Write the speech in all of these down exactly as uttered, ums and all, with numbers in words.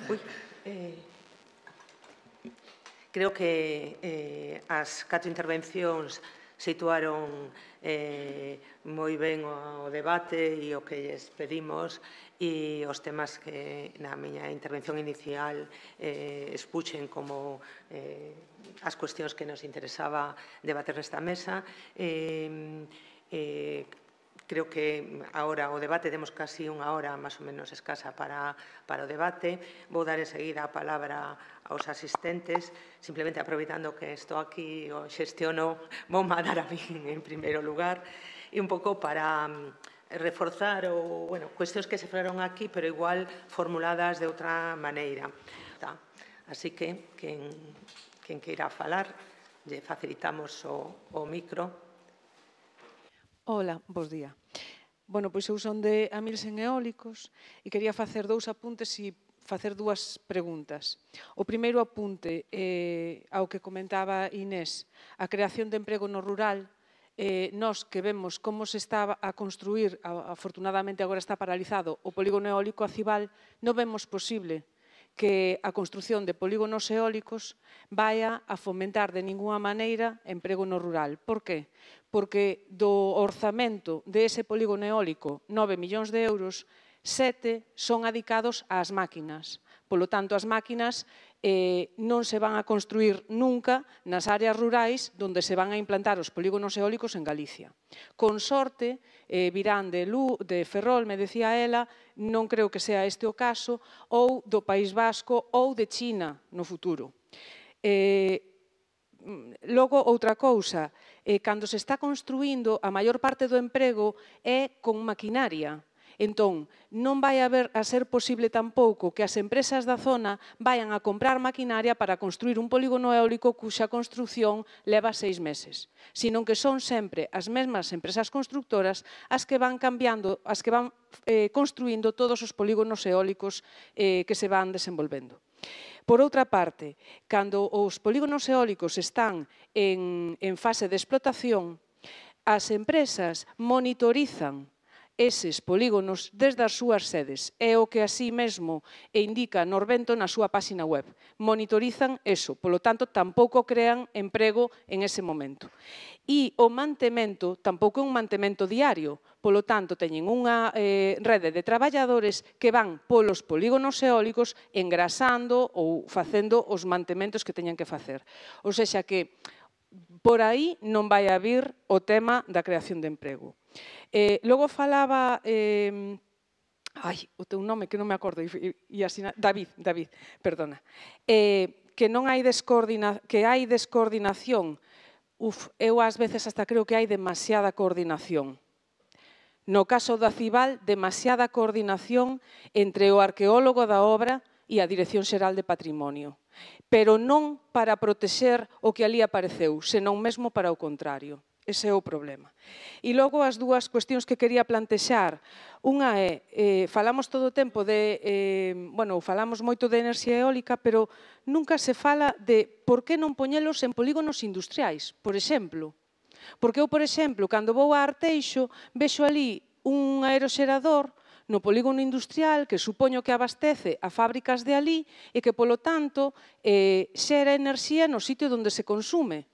Ui, eh, creo que eh, as catro intervencións situaron eh, moi ben o debate e o que lles pedimos e os temas que na miña intervención inicial eh, expuxen como eh, as cuestións que nos interesaba debater nesta mesa. Eh, eh, Creo que agora o debate, temos casi unha hora máis ou menos escasa para, para o debate. Vou dar enseguida a palabra aos asistentes. Simplemente aproveitando que estou aquí o xestiono, vou mandar a mí en primeiro lugar e un pouco para reforzar o, bueno, cuestións que se falaron aquí, pero igual formuladas de outra maneira. Tá. Así que, quen, quen queira falar, lle facilitamos o, o micro. Ola, bos día. Bueno, pois eu son de Amilsen Eólicos e quería facer dous apuntes e facer dúas preguntas. O primeiro apunte eh, ao que comentaba Inés, a creación de emprego no rural. Eh, nós que vemos como se está a construir, afortunadamente agora está paralizado, o polígono eólico Acibal, non vemos posible que a construción de polígonos eólicos vaya a fomentar de ninguna maneira emprego no rural. Por que? Porque do orzamento dese polígono eólico, nove millóns de euros, sete son adicados ás máquinas. Polo tanto, as máquinas eh, non se van a construir nunca nas áreas rurais onde se van a implantar os polígonos eólicos en Galicia. Con sorte, eh, virán de, Lu, de Ferrol, me decía ela, non creo que sea este o caso, ou do País Vasco ou de China no futuro. Eh, logo, outra cousa, eh, cando se está construindo, a maior parte do emprego é con maquinaria. Entón, non vai haber a ser posible tampouco que as empresas da zona vayan a comprar maquinaria para construir un polígono eólico cuxa construción leva seis meses, sino que son sempre as mesmas empresas constructoras as que van cambiando, as que van eh, construindo todos os polígonos eólicos eh, que se van desenvolvendo. Por outra parte, cando os polígonos eólicos están en, en fase de explotación, as empresas monitorizan eses polígonos desde as súas sedes. É o que así mesmo indica Norvento na súa páxina web. Monitorizan eso, polo tanto, tampouco crean emprego en ese momento. E o mantemento tampouco é un mantemento diario, polo tanto, teñen unha eh, rede de traballadores que van polos polígonos eólicos engrasando ou facendo os mantementos que teñan que facer. Ou sexa que por aí non vai a vir o tema da creación de emprego. Eh, logo falaba, eh, ai, o teu nome que non me acordo, e, e así, David, David, perdona, eh, que non hai descoordina, que hai descoordinación. Uf, eu ás veces hasta creo que hai demasiada coordinación. No caso do Acibal, demasiada coordinación entre o arqueólogo da obra e a Dirección Xeral de Patrimonio, pero non para protexer o que ali apareceu, senón mesmo para o contrario. Ese é o problema. E logo as dúas cuestións que quería plantexar. Unha é, eh, falamos todo o tempo de, eh, bueno, falamos moito de enerxía eólica, pero nunca se fala de por que non poñelos en polígonos industriais, por exemplo. Porque eu, por exemplo, cando vou a Arteixo, vexo ali un aeroxerador no polígono industrial que supoño que abastece a fábricas de ali e que, polo tanto, eh, xera enerxía no sitio onde se consume.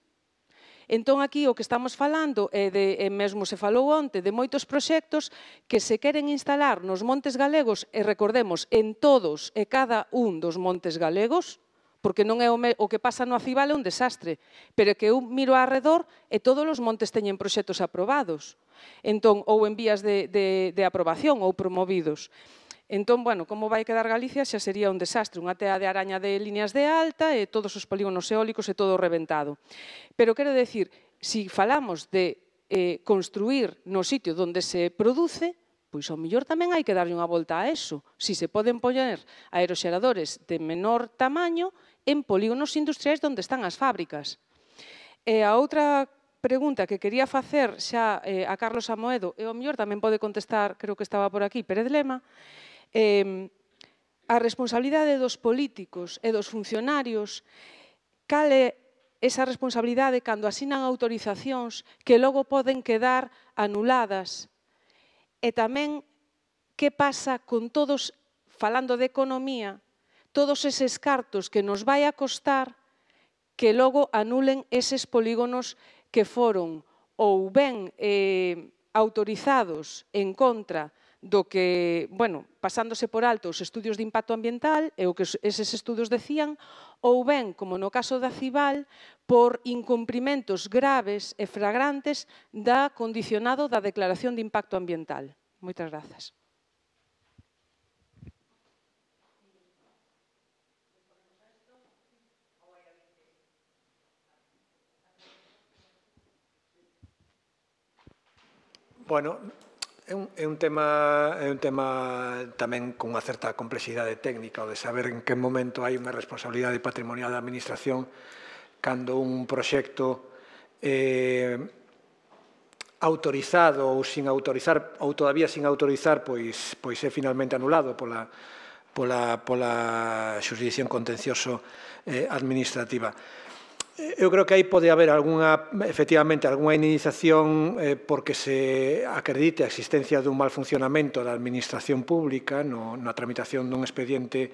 Entón, aquí o que estamos falando é de, e mesmo se falou onte, de moitos proxectos que se queren instalar nos montes galegos, e recordemos, en todos e cada un dos montes galegos, porque non é o, me, o que pasa no Acibal é un desastre, pero é que eu miro arredor e todos os montes teñen proxectos aprobados, entón, ou en vías de, de, de aprobación ou promovidos. Entón, bueno, como vai quedar Galicia xa sería un desastre, unha tea de araña de líneas de alta e todos os polígonos eólicos e todo reventado. Pero quero decir, se falamos de eh, construir no sitio onde se produce, pois ao mellor tamén hai que darlle unha volta a eso. Si se poden poñer aeroxeradores de menor tamaño en polígonos industriais onde están as fábricas. E a outra pregunta que quería facer xa eh, a Carlos Amoedo, e ao mellor tamén pode contestar, creo que estaba por aquí, Pérez Lema, Eh, a responsabilidade dos políticos e dos funcionarios, cal é esa responsabilidade cando asinan autorizacións que logo poden quedar anuladas, e tamén que pasa con todos, falando de economía, todos eses cartos que nos vai a costar que logo anulen eses polígonos que foron ou ben eh, autorizados en contra do que, bueno, pasándose por alto os estudios de impacto ambiental e o que eses estudios decían, ou ben, como no caso da Cival, por incumprimentos graves e flagrantes da condicionado da declaración de impacto ambiental. Moitas grazas. Bueno, é un, é un tema é un tema tamén con unha certa complexidade técnica, o de saber en que momento hai unha responsabilidade patrimonial da administración cando un proxecto eh, autorizado ou sin autorizar ou todavía sin autorizar pois, pois é finalmente anulado pola, pola, pola xurisdicción contencioso eh, administrativa. Eu creo que aí pode haber alguna, efectivamente, algunha indemnización eh, porque se acredite a existencia dun mal funcionamento da administración pública no, na tramitación dun expediente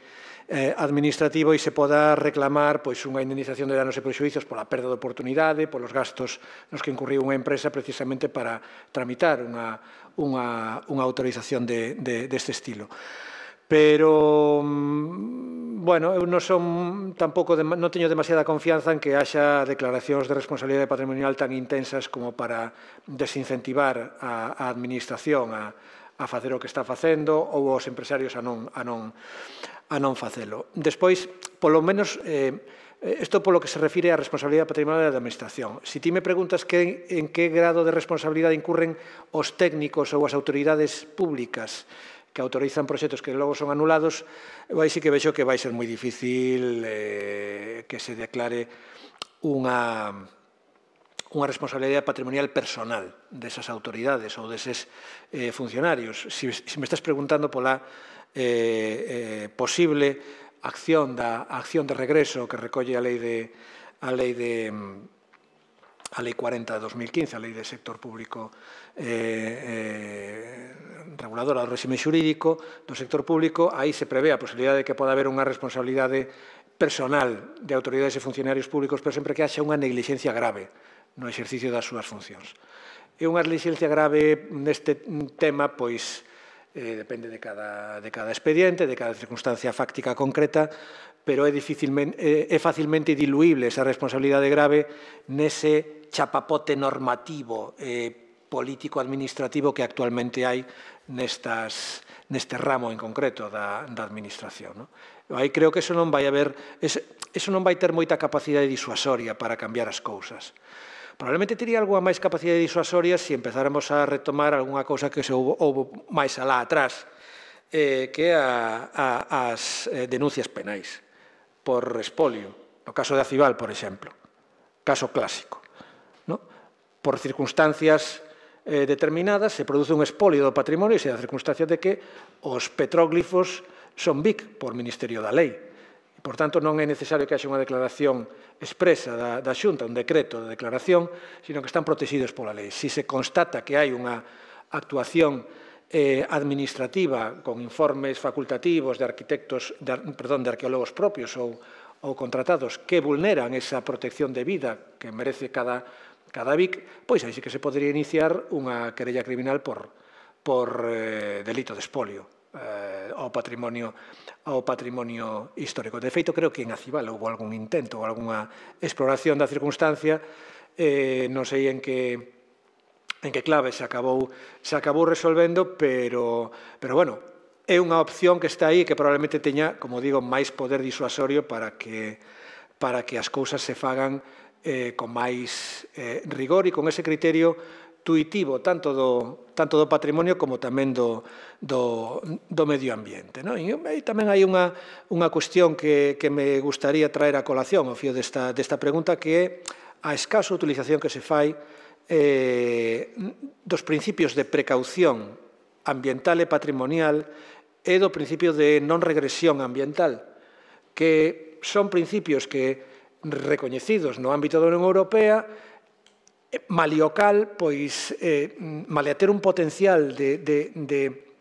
eh, administrativo e se poda reclamar pois, unha indemnización de danos e prexuízos pola perda de oportunidade, polos gastos nos que incurriu unha empresa precisamente para tramitar unha, unha, unha autorización de, de, deste estilo. Pero, bueno, eu non son tampouco, non teño demasiada confianza en que haxa declaracións de responsabilidade patrimonial tan intensas como para desincentivar a, a administración a, a facer o que está facendo ou os empresarios a non, a non, a non facelo. Despois, polo menos, eh, isto polo que se refire á responsabilidade patrimonial da administración. Se ti me preguntas que, en que grado de responsabilidade incurren os técnicos ou as autoridades públicas que autorizan proxectos que logo son anulados, eu aí sí que vexo que vai ser moi difícil eh, que se declare unha, unha responsabilidade patrimonial personal desas autoridades ou deses eh, funcionarios. Si, si me estás preguntando pola eh, eh, posible acción da acción de regreso que recolle a lei de a lei de a lei cuarenta de dos mil quince, a lei de sector público eh, eh, reguladora do réxime xurídico do sector público, aí se prevé a posibilidade de que poda haber unha responsabilidade personal de autoridades e funcionarios públicos, pero sempre que haxa unha negligencia grave no exercicio das súas funcións. E unha negligencia grave neste tema, pois, eh, depende de cada, de cada expediente, de cada circunstancia fáctica concreta, pero é, dificilmente, é, é facilmente diluíble esa responsabilidade grave nese chapapote normativo eh, político-administrativo que actualmente hai nestas, neste ramo en concreto da, da administración. No? Aí creo que eso non vai haber, eso non vai ter moita capacidade disuasoria para cambiar as cousas. Probablemente teria algunha máis capacidade disuasoria se empezáramos a retomar algunha cousa que se houve, houve máis alá atrás, eh, que a, a, as eh, denuncias penais por espolio, no caso de Acival, por exemplo, caso clásico. No? Por circunstancias eh, determinadas se produce un espolio do patrimonio e se da circunstancia de que os petróglifos son B I C por Ministerio da Lei. E, por tanto, non é necesario que haxa unha declaración expresa da, da Xunta, un decreto de declaración, sino que están protegidos pola lei. Si se constata que hai unha actuación eh, administrativa con informes facultativos de arquitectos, de, perdón, de arqueólogos propios ou, ou contratados que vulneran esa protección de vida que merece cada, cada B I C, pois aí sí que se podría iniciar unha querella criminal por, por eh, delito de espolio eh, ao patrimonio ao patrimonio histórico. De feito, creo que en Acival houve algún intento ou algunha exploración da circunstancia, eh, non sei en que en que clave se acabou se acabou resolvendo, pero pero bueno, é unha opción que está aí que probablemente teña, como digo, máis poder disuasorio para que para que as cousas se fagan eh, con máis eh, rigor e con ese criterio tuitivo tanto do, tanto do patrimonio como tamén do, do, do medio ambiente. No? E aí tamén hai unha, unha cuestión que, que me gustaría traer a colación ao fío desta, desta pregunta, que é a escaso utilización que se fai eh, dos principios de precaución ambiental e patrimonial e do principio de non regresión ambiental, que son principios que recoñecidos no ámbito da Unión Europea, maliocal, pois, eh, malia ter un potencial de, de, de,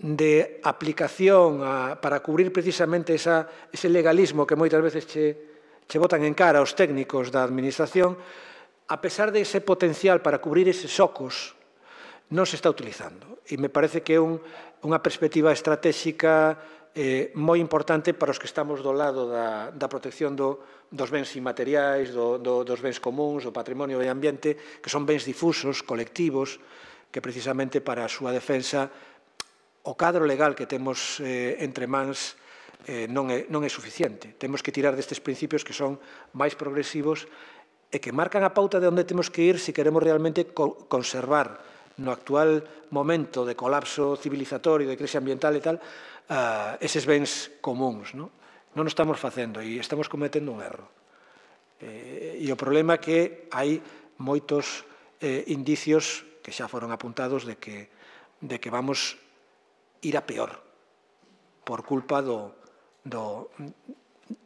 de aplicación a, para cubrir precisamente esa, ese legalismo que moitas veces che, che botan en cara aos técnicos da administración, a pesar de ese potencial para cubrir eses socos, non se está utilizando. E me parece que é un, unha perspectiva estratégica eh, moi importante para os que estamos do lado da, da protección do, dos bens inmateriais, do, do, dos bens comuns, do patrimonio e do ambiente, que son bens difusos, colectivos, que precisamente para a súa defensa o cadro legal que temos eh, entre mans eh, non, é, non é suficiente. Temos que tirar destes principios que son máis progresivos e que marcan a pauta de onde temos que ir se queremos realmente co conservar no actual momento de colapso civilizatorio, de crise ambiental e tal, uh, eses bens comuns. Non, non o estamos facendo e estamos cometendo un erro. Eh, e o problema é que hai moitos eh, indicios que xa foron apuntados de que, de que vamos ir a peor por culpa do, do,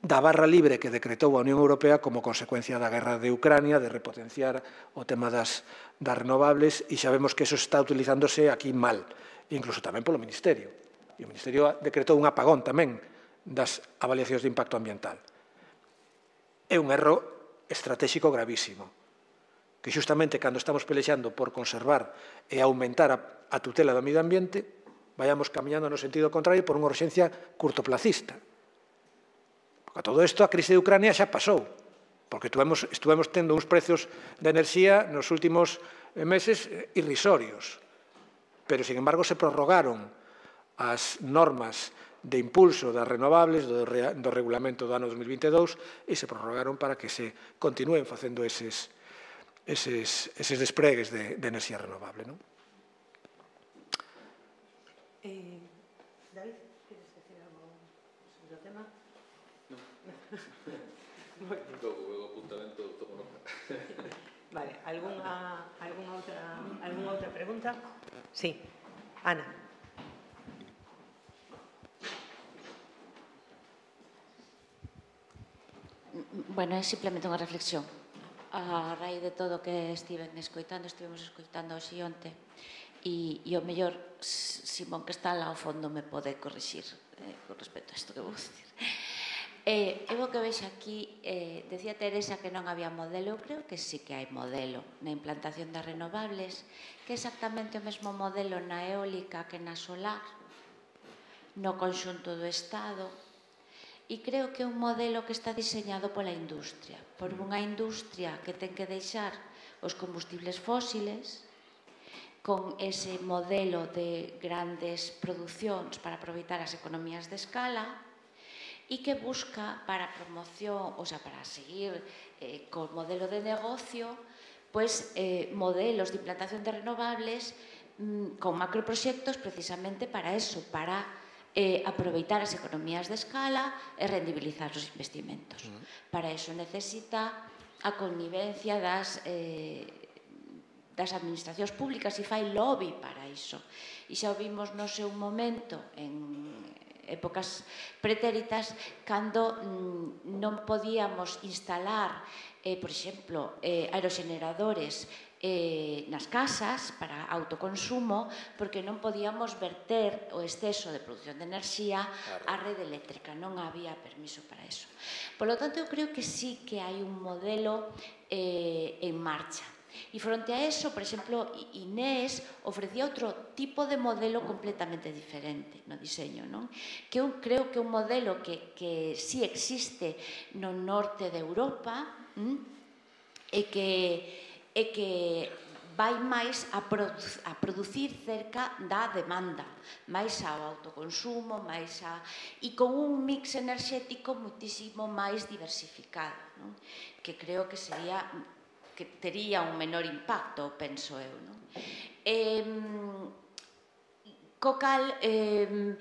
da barra libre que decretou a Unión Europea como consecuencia da guerra de Ucrania, de repotenciar o tema das, das renovables, e sabemos que eso está utilizándose aquí mal, incluso tamén polo Ministerio. E o Ministerio decretou un apagón tamén das avaliacións de impacto ambiental. É un erro estratégico gravísimo, que xustamente cando estamos pelexando por conservar e aumentar a, a tutela do medio ambiente, vayamos camiñando no sentido contrario por unha urxencia curtoplacista. Porque a todo isto a crise de Ucrania xa pasou, porque estuvemos, estuvemos tendo uns precios de enerxía nos últimos meses irrisorios, pero, sin embargo, se prorrogaron as normas de impulso das renovables do, do regulamento do ano dos mil vinte e dous e se prorrogaron para que se continúen facendo eses, eses, eses despregues de, de enerxía renovable, non? Eh, David, queres decir algo sobre o tema? Non. Logo, o apuntamento tomo nota. Vale, algunha, algunha, outra, algunha outra pregunta? Sí, Ana. Bueno, é simplemente unha reflexión. A raíz de todo o que estiven escoitando, estivemos escoitando hoxe e onte, e, e o mellor Simón que está lá ao fondo me pode corrixir eh, con respecto a isto que vou dicir. Eh, eu o que vexo aquí, eh, decía Teresa que non había modelo, eu creo que sí que hai modelo na implantación das renovables, que é exactamente o mesmo modelo na eólica que na solar, no conxunto do Estado, e creo que é un modelo que está diseñado pola industria, por unha industria que ten que deixar os combustibles fósiles, con ese modelo de grandes producións para aproveitar as economías de escala e que busca para promoción, o sea, para seguir eh, con modelo de negocio, pues eh, modelos de implantación de renovables mm, con macroproxectos precisamente para eso, para eh, aproveitar as economías de escala e rendibilizar os investimentos. Uh-huh. Para eso necesita a connivencia das... Eh, das administracións públicas e fai lobby para iso. E xa o vimos no seu momento en épocas pretéritas cando mm, non podíamos instalar, eh, por exemplo, eh, aeroxeneradores eh, nas casas para autoconsumo porque non podíamos verter o exceso de produción de enerxía á rede eléctrica, non había permiso para eso. Por lo tanto, eu creo que sí que hai un modelo eh, en marcha. E fronte a eso, por exemplo, Inés ofrecía outro tipo de modelo completamente diferente no diseño, non? Que eu creo que é un modelo que, que sí existe no norte de Europa ¿m? e que, e que vai máis a, produ a producir cerca da demanda, máis ao autoconsumo, máis a... e con un mix enerxético muitísimo máis diversificado, non? Que creo que sería... que tería un menor impacto, penso eu. Non? Eh, co cal, eh,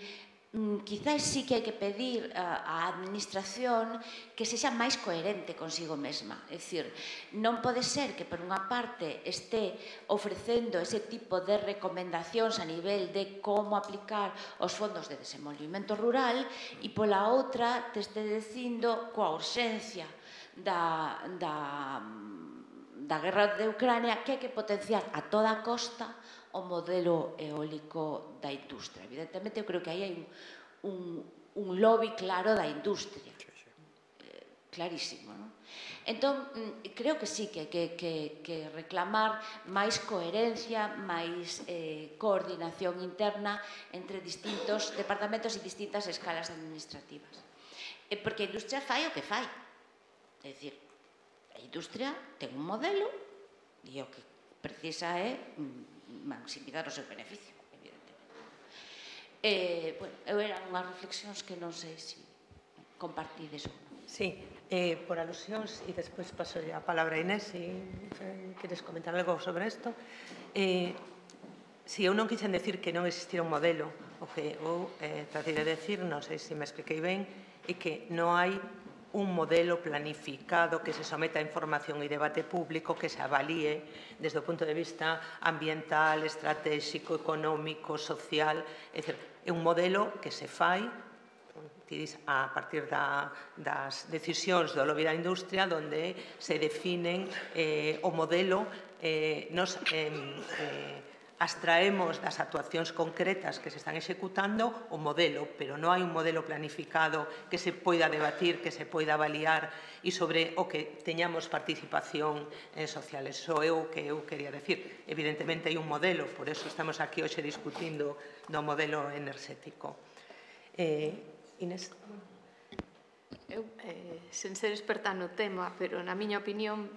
quizás sí que hai que pedir á administración que sexa máis coherente consigo mesma. É dicir, non pode ser que por unha parte este ofrecendo ese tipo de recomendacións a nivel de como aplicar os fondos de desenvolvemento rural e pola outra te este dicindo coa urxencia da... da da guerra de Ucrania que hai que potenciar a toda costa o modelo eólico da industria. Evidentemente, eu creo que aí hai un, un lobby claro da industria. Eh, clarísimo, non? Entón, creo que sí, que hai que, que, que reclamar máis coherencia, máis eh, coordinación interna entre distintos departamentos e distintas escalas administrativas. Eh, porque a industria fai o que fai. É dicir, a industria ten un modelo e o que precisa é maximizar o seu beneficio, evidentemente. Eh, bueno, eu eran unhas reflexións que non sei se compartides ou non. Sí, eh, por alusións, e despois paso a palabra a Inés, se eh, queres comentar algo sobre isto. Eh, si eu non quixen decir que non existira un modelo, o que eu eh, tratei de decir, non sei se me expliquei ben, é que non hai un modelo planificado que se someta a información e debate público que se avalíe desde o punto de vista ambiental, estratégico, económico, social. É dicir, é un modelo que se fai a partir da, das decisións do lobby da industria, onde se definen eh, o modelo, eh, nos eh, eh, abstraemos das actuacións concretas que se están executando o modelo, pero non hai un modelo planificado que se poida debatir, que se poida avaliar e sobre o que teñamos participación eh, social. Eso é o que eu quería decir. Evidentemente hai un modelo, por eso estamos aquí hoxe discutindo do modelo enerxético. Eh, Inés? Eu, eh, sen ser experta no tema, pero na miña opinión,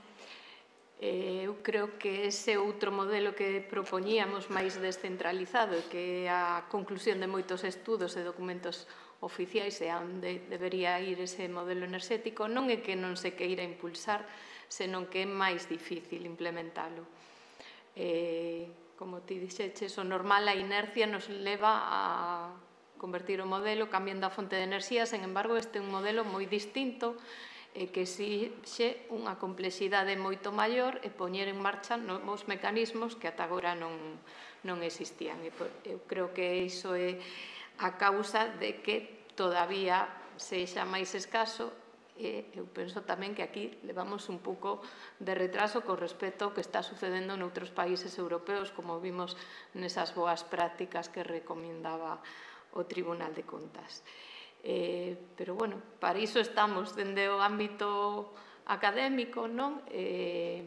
Eh, eu creo que ese outro modelo que propoñíamos máis descentralizado e que é a conclusión de moitos estudos e documentos oficiais e onde debería ir ese modelo enerxético non é que non se queira impulsar, senón que é máis difícil implementalo. Eh, como ti dixeches, o normal, a inercia nos leva a convertir o modelo cambiando a fonte de enerxía, sen embargo, este é un modelo moi distinto e que exixe unha complexidade moito maior e poñer en marcha novos mecanismos que ata agora non, non existían. E eu creo que iso é a causa de que todavía sexa máis escaso e eu penso tamén que aquí levamos un pouco de retraso con respecto ao que está sucedendo noutros países europeos, como vimos nesas boas prácticas que recomendaba o Tribunal de Contas. Eh, pero, bueno, para iso estamos dende o ámbito académico, non? Eh,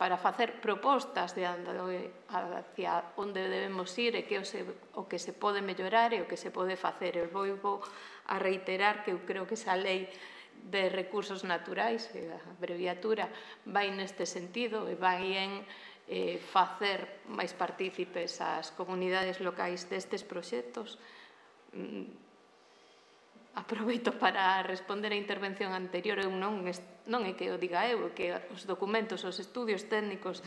para facer propostas de hacia onde debemos ir e que o, se, o que se pode mellorar e o que se pode facer. Eu vou a reiterar que eu creo que esa lei de recursos naturais, a abreviatura, vai neste sentido e vai en eh, facer máis partícipes as comunidades locais destes proxectos. Aproveito para responder a intervención anterior. Eu non, non é que o diga eu, é que os documentos, os estudios técnicos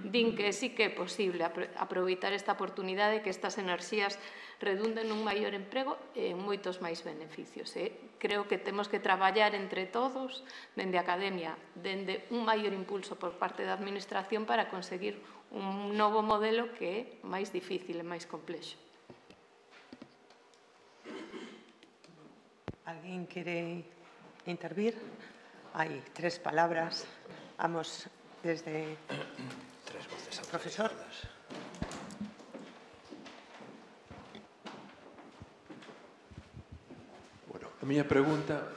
din que sí que é posible aproveitar esta oportunidade, que estas enerxías redunden nun maior emprego e en moitos máis beneficios. E creo que temos que traballar entre todos, dende a academia, dende un maior impulso por parte da administración para conseguir un novo modelo que é máis difícil e máis complexo. ¿Alguien quiere intervir? Hay tres palabras. Vamos desde tres voces el profesor. Bueno, a miña pregunta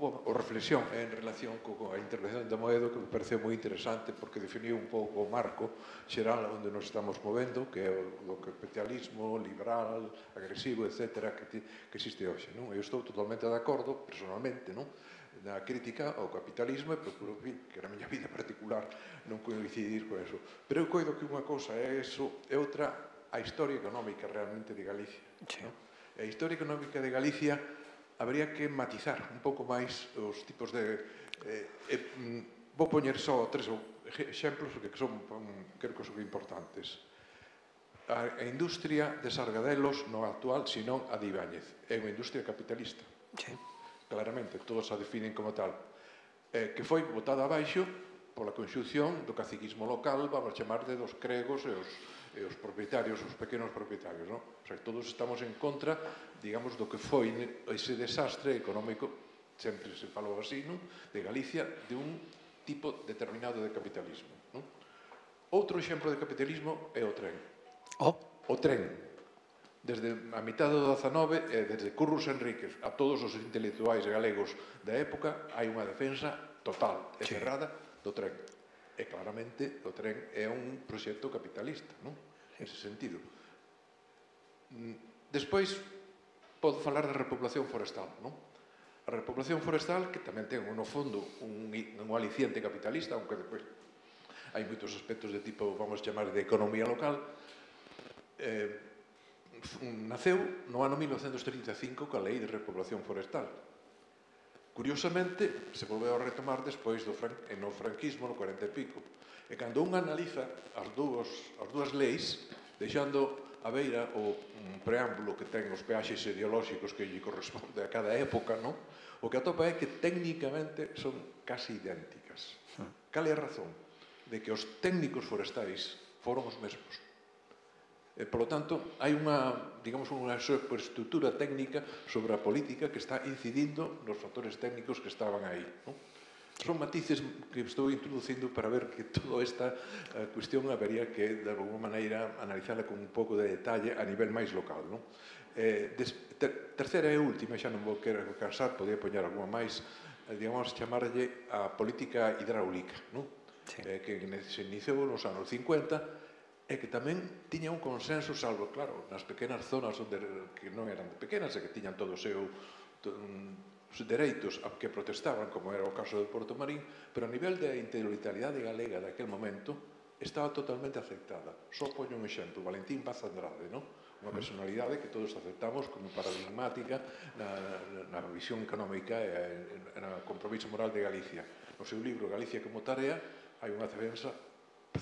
o, o reflexión é en relación coa intervención de Moedo, que me pareceu moi interesante porque definiu un pouco o marco xeral onde nos estamos movendo, que é o capitalismo liberal, agresivo, etcétera, que, ti, que existe hoxe. Non? Eu estou totalmente de acordo, personalmente, non? Na crítica ao capitalismo e procuro, que na miña vida particular, non coincidir con eso. Pero eu coido que unha cousa é eso, e outra a historia económica realmente de Galicia. Sí. Non? A historia económica de Galicia habría que matizar un pouco máis os tipos de... Eh, eh, vou poñer só tres exemplos que son, creo que son importantes. A, a industria de Sargadelos non actual, senón a de Ibáñez. É unha industria capitalista. Sí. Claramente, todos a definen como tal. Eh, que foi botada abaixo pola conxunción do caciquismo local, vamos chamar de dos cregos e os, e os propietarios, os pequenos propietarios, non? O sea, todos estamos en contra, digamos, do que foi ese desastre económico, sempre se falou así, non? De Galicia, de un tipo determinado de capitalismo, non? Outro exemplo de capitalismo é o tren. Oh. O tren, desde a mitad do dezanove, e desde Curros Enríquez a todos os intelectuais galegos da época, hai unha defensa total e Sí. cerrada do tren. E claramente o tren é un proxecto capitalista, non? Nese sentido. Despois, podo falar da repoblación forestal, non? A repoblación forestal, que tamén ten no fondo un, un aliciente capitalista, aunque depois hai moitos aspectos de tipo, vamos chamar, de economía local, eh, naceu no ano mil novecentos trinta e cinco coa Lei de Repoblación Forestal. Curiosamente, se volveu a retomar despois do fran, no franquismo, no cuarenta e pico. E cando un analiza as dúas, as dúas leis, deixando a beira o um, preámbulo que ten os peaxes ideolóxicos que lle corresponde a cada época, non? O que atopa é que técnicamente son casi idénticas. Cal é a razón? De que os técnicos forestais foron os mesmos. E, polo tanto, hai unha, digamos, unha superestructura técnica sobre a política que está incidindo nos factores técnicos que estaban aí, non? Son matices que estou introducindo para ver que toda esta uh, cuestión habería que, de alguma maneira, analizarla con un pouco de detalle a nivel máis local, non? Eh, des, ter, terceira e última, xa non vou querer cansar, podía poñer alguma máis, eh, digamos, chamarlle a política hidráulica, non? Sí. Eh, que se iniciou nos anos cincuenta e que tamén tiña un consenso, salvo, claro, nas pequenas zonas onde, que non eran pequenas e que tiñan todo o seu os dereitos a que protestaban, como era o caso do Porto Marín, pero a nivel da intelectualidade galega daquel momento estaba totalmente aceptada. Só poño un exemplo, Valentín Paz Andrade, non? Unha personalidade que todos aceptamos como paradigmática na, na visión económica e na compromiso moral de Galicia. No seu libro Galicia como tarea hai unha defensa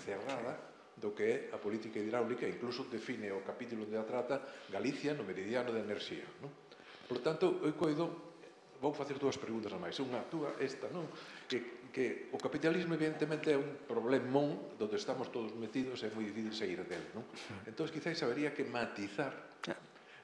cerrada do que é a política hidráulica, incluso define o capítulo onde a trata Galicia no meridiano de enerxía, non? Por tanto, eu coido, vou facer dúas preguntas a máis. Unha, túa, esta, non? Que, que o capitalismo, evidentemente, é un problemón onde estamos todos metidos e é moi difícil sair dele, non? Entón, quizáis habería que matizar.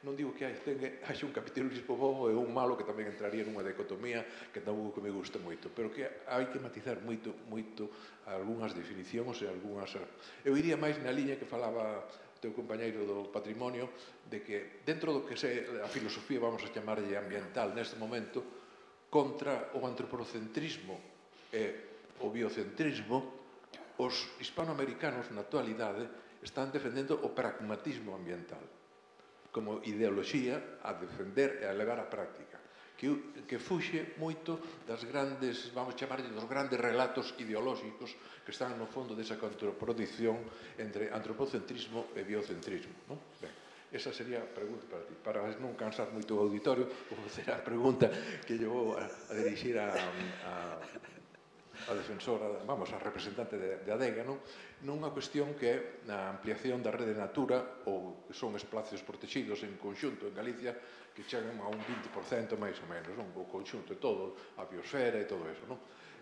Non digo que hai, ten, hai un capitalismo bo e un malo que tamén entraría nunha dicotomía que tampouco me gusta moito, pero que hai que matizar moito, moito algunhas definicións e algunhas... Eu iría máis na liña que falaba o teu compañeiro do patrimonio, de que dentro do que se a filosofía, vamos a chamarlle ambiental neste momento, contra o antropocentrismo e o biocentrismo, os hispanoamericanos na actualidade están defendendo o pragmatismo ambiental como ideoloxía a defender e a levar á práctica, que, que fuxe moito das grandes, vamos chamarlle, dos grandes relatos ideolóxicos que están no fondo desa contraposición entre antropocentrismo e biocentrismo, non? Ben, esa sería a pregunta para ti. Para non cansar moito o auditorio, vou facer a pregunta que lle vou a, a dirixir a, a, a defensora, vamos, a representante de, de ADEGA, non? Nunha cuestión que é a ampliación da rede Natura, ou que son espacios protegidos en conxunto en Galicia, que chegan a un vinte por cento máis ou menos, non? O conxunto de todo, a biosfera e todo eso, non?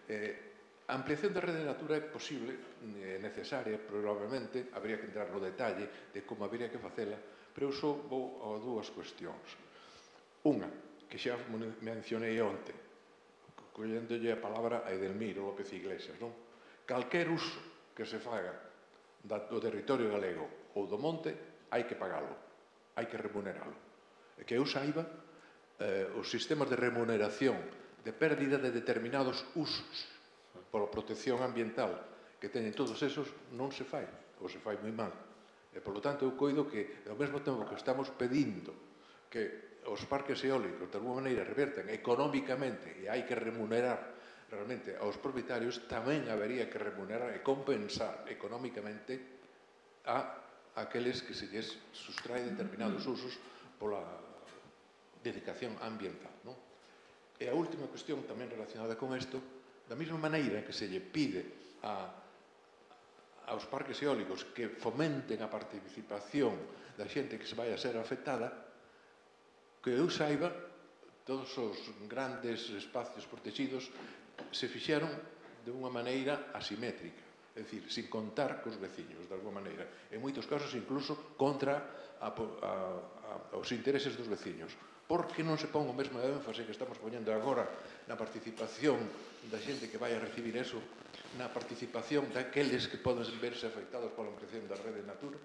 Eh, a ampliación da rede Natura é posible, é necesaria, probablemente, habría que entrar no detalle de como habría que facela, pero eu só vou a dúas cuestións. Unha, que xa mencionei onte, collendolle a palabra a Edelmiro López Iglesias, non? Calquer uso que se faga do territorio galego ou do monte, hai que pagalo, hai que remuneralo. E que eu saiba, eh, os sistemas de remuneración de pérdida de determinados usos pola protección ambiental que teñen todos esos non se fai, ou se fai moi mal. E, polo tanto, eu coido que, ao mesmo tempo que estamos pedindo que os parques eólicos, de alguma maneira, reverten económicamente e hai que remunerar realmente aos propietarios, tamén habería que remunerar e compensar económicamente a aqueles que se lles sustrae determinados usos pola dedicación ambiental, non? E a última cuestión tamén relacionada con isto, da mesma maneira que se lle pide a, aos parques eólicos que fomenten a participación da xente que se vai a ser afectada, que eu saiba, todos os grandes espacios protegidos se fixeron de unha maneira asimétrica, é dicir, sin contar cos veciños, de alguma maneira. En moitos casos, incluso, contra a, a, a, os intereses dos veciños. Por que non se pon o mesmo énfase que estamos poñendo agora na participación da xente que vai a recibir eso, na participación daqueles que poden verse afectados pola ampliación da rede Natura?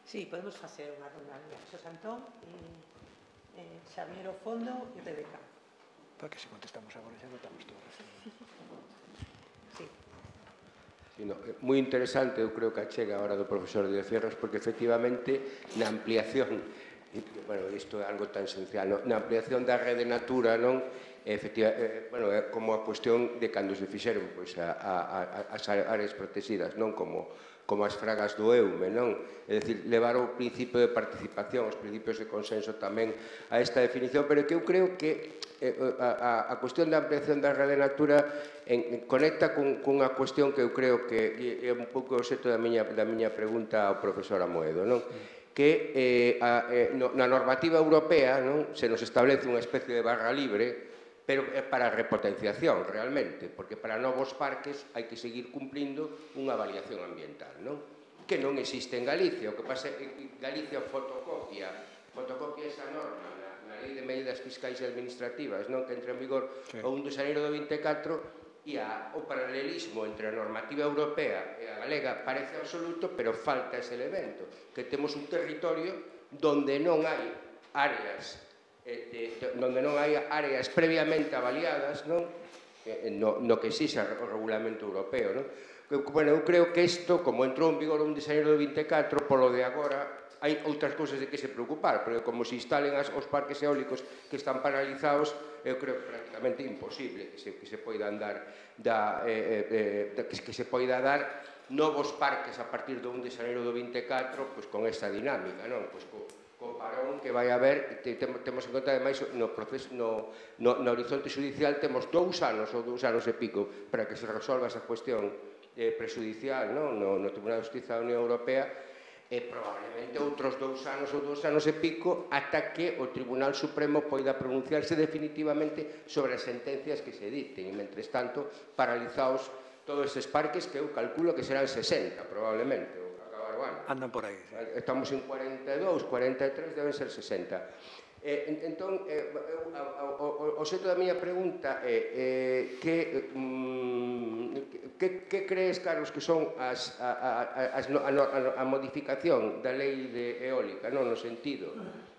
Sí, podemos facer unha ronda. Xosé Antón, eh, Xavier ao fondo e Rebeca. Para que se contestamos agora xa notamos todos. Sí. Sí, no, moi interesante, eu creo que achega a hora do profesor de Fierros, porque efectivamente na ampliación, bueno, isto é algo tan esencial, no? Na ampliación da rede Natura, non? Efectiva, eh, bueno, é como a cuestión de cando se fixeron pois, a, a, a, as áreas protegidas, non? Como, como as fragas do Eume, non? É dicir, levar o principio de participación, os principios de consenso tamén a esta definición, pero que eu creo que eh, a, a, a cuestión da ampliación da rede Natura en, en, conecta con, cunha cuestión que eu creo que é un pouco o xeito da miña, da miña pregunta ao profesor Amoedo, non? Que eh, a, eh, no, na normativa europea, non? Se nos establece unha especie de barra libre, pero é para a repotenciación, realmente, porque para novos parques hai que seguir cumplindo unha avaliación ambiental, non? Que non existe en Galicia, o que pasa é que Galicia fotocopia, fotocopia esa norma na, na Lei de Medidas Fiscais e Administrativas, non? Que entra en vigor sí. O un de xaneiro do vinte e catro, e a, o paralelismo entre a normativa europea e a galega parece absoluto, pero falta ese elemento, que temos un territorio donde non hai áreas De, de, donde non hai áreas previamente avaliadas, non? No, no que exixa o regulamento europeo, non? Bueno, eu creo que isto, como entrou en vigor un de xaneiro do vinte e catro, polo de agora, hai outras cousas de que se preocupar, porque como se instalen as, os parques eólicos que están paralizados, eu creo que prácticamente imposible que se, que se poida andar da, eh, eh, que se poida dar novos parques a partir do un de xaneiro do vinte e catro, pois con esta dinámica, non? Pois co, co parón que vai haber, te, te, temos en conta ademais no, proceso, no, no, no horizonte judicial temos dous anos ou dous anos e pico para que se resolva esa cuestión eh, prejudicial, non? No, no Tribunal de Justicia da Unión Europea, e probablemente outros dous anos ou dous anos e pico ata que o Tribunal Supremo poida pronunciarse definitivamente sobre as sentencias que se dicten, e mentres tanto paralizados todos estes parques que eu calculo que serán sesenta probablemente. Andan por aí. Sí. Estamos en cuarenta e dous, cuarenta e tres, deben ser sesenta. Eh, entón, eh, o, o, o xeito da miña pregunta é eh, que, mm, que, que crees, Carlos, que son as, a, a, as, a, a, a modificación da lei de eólica, non no sentido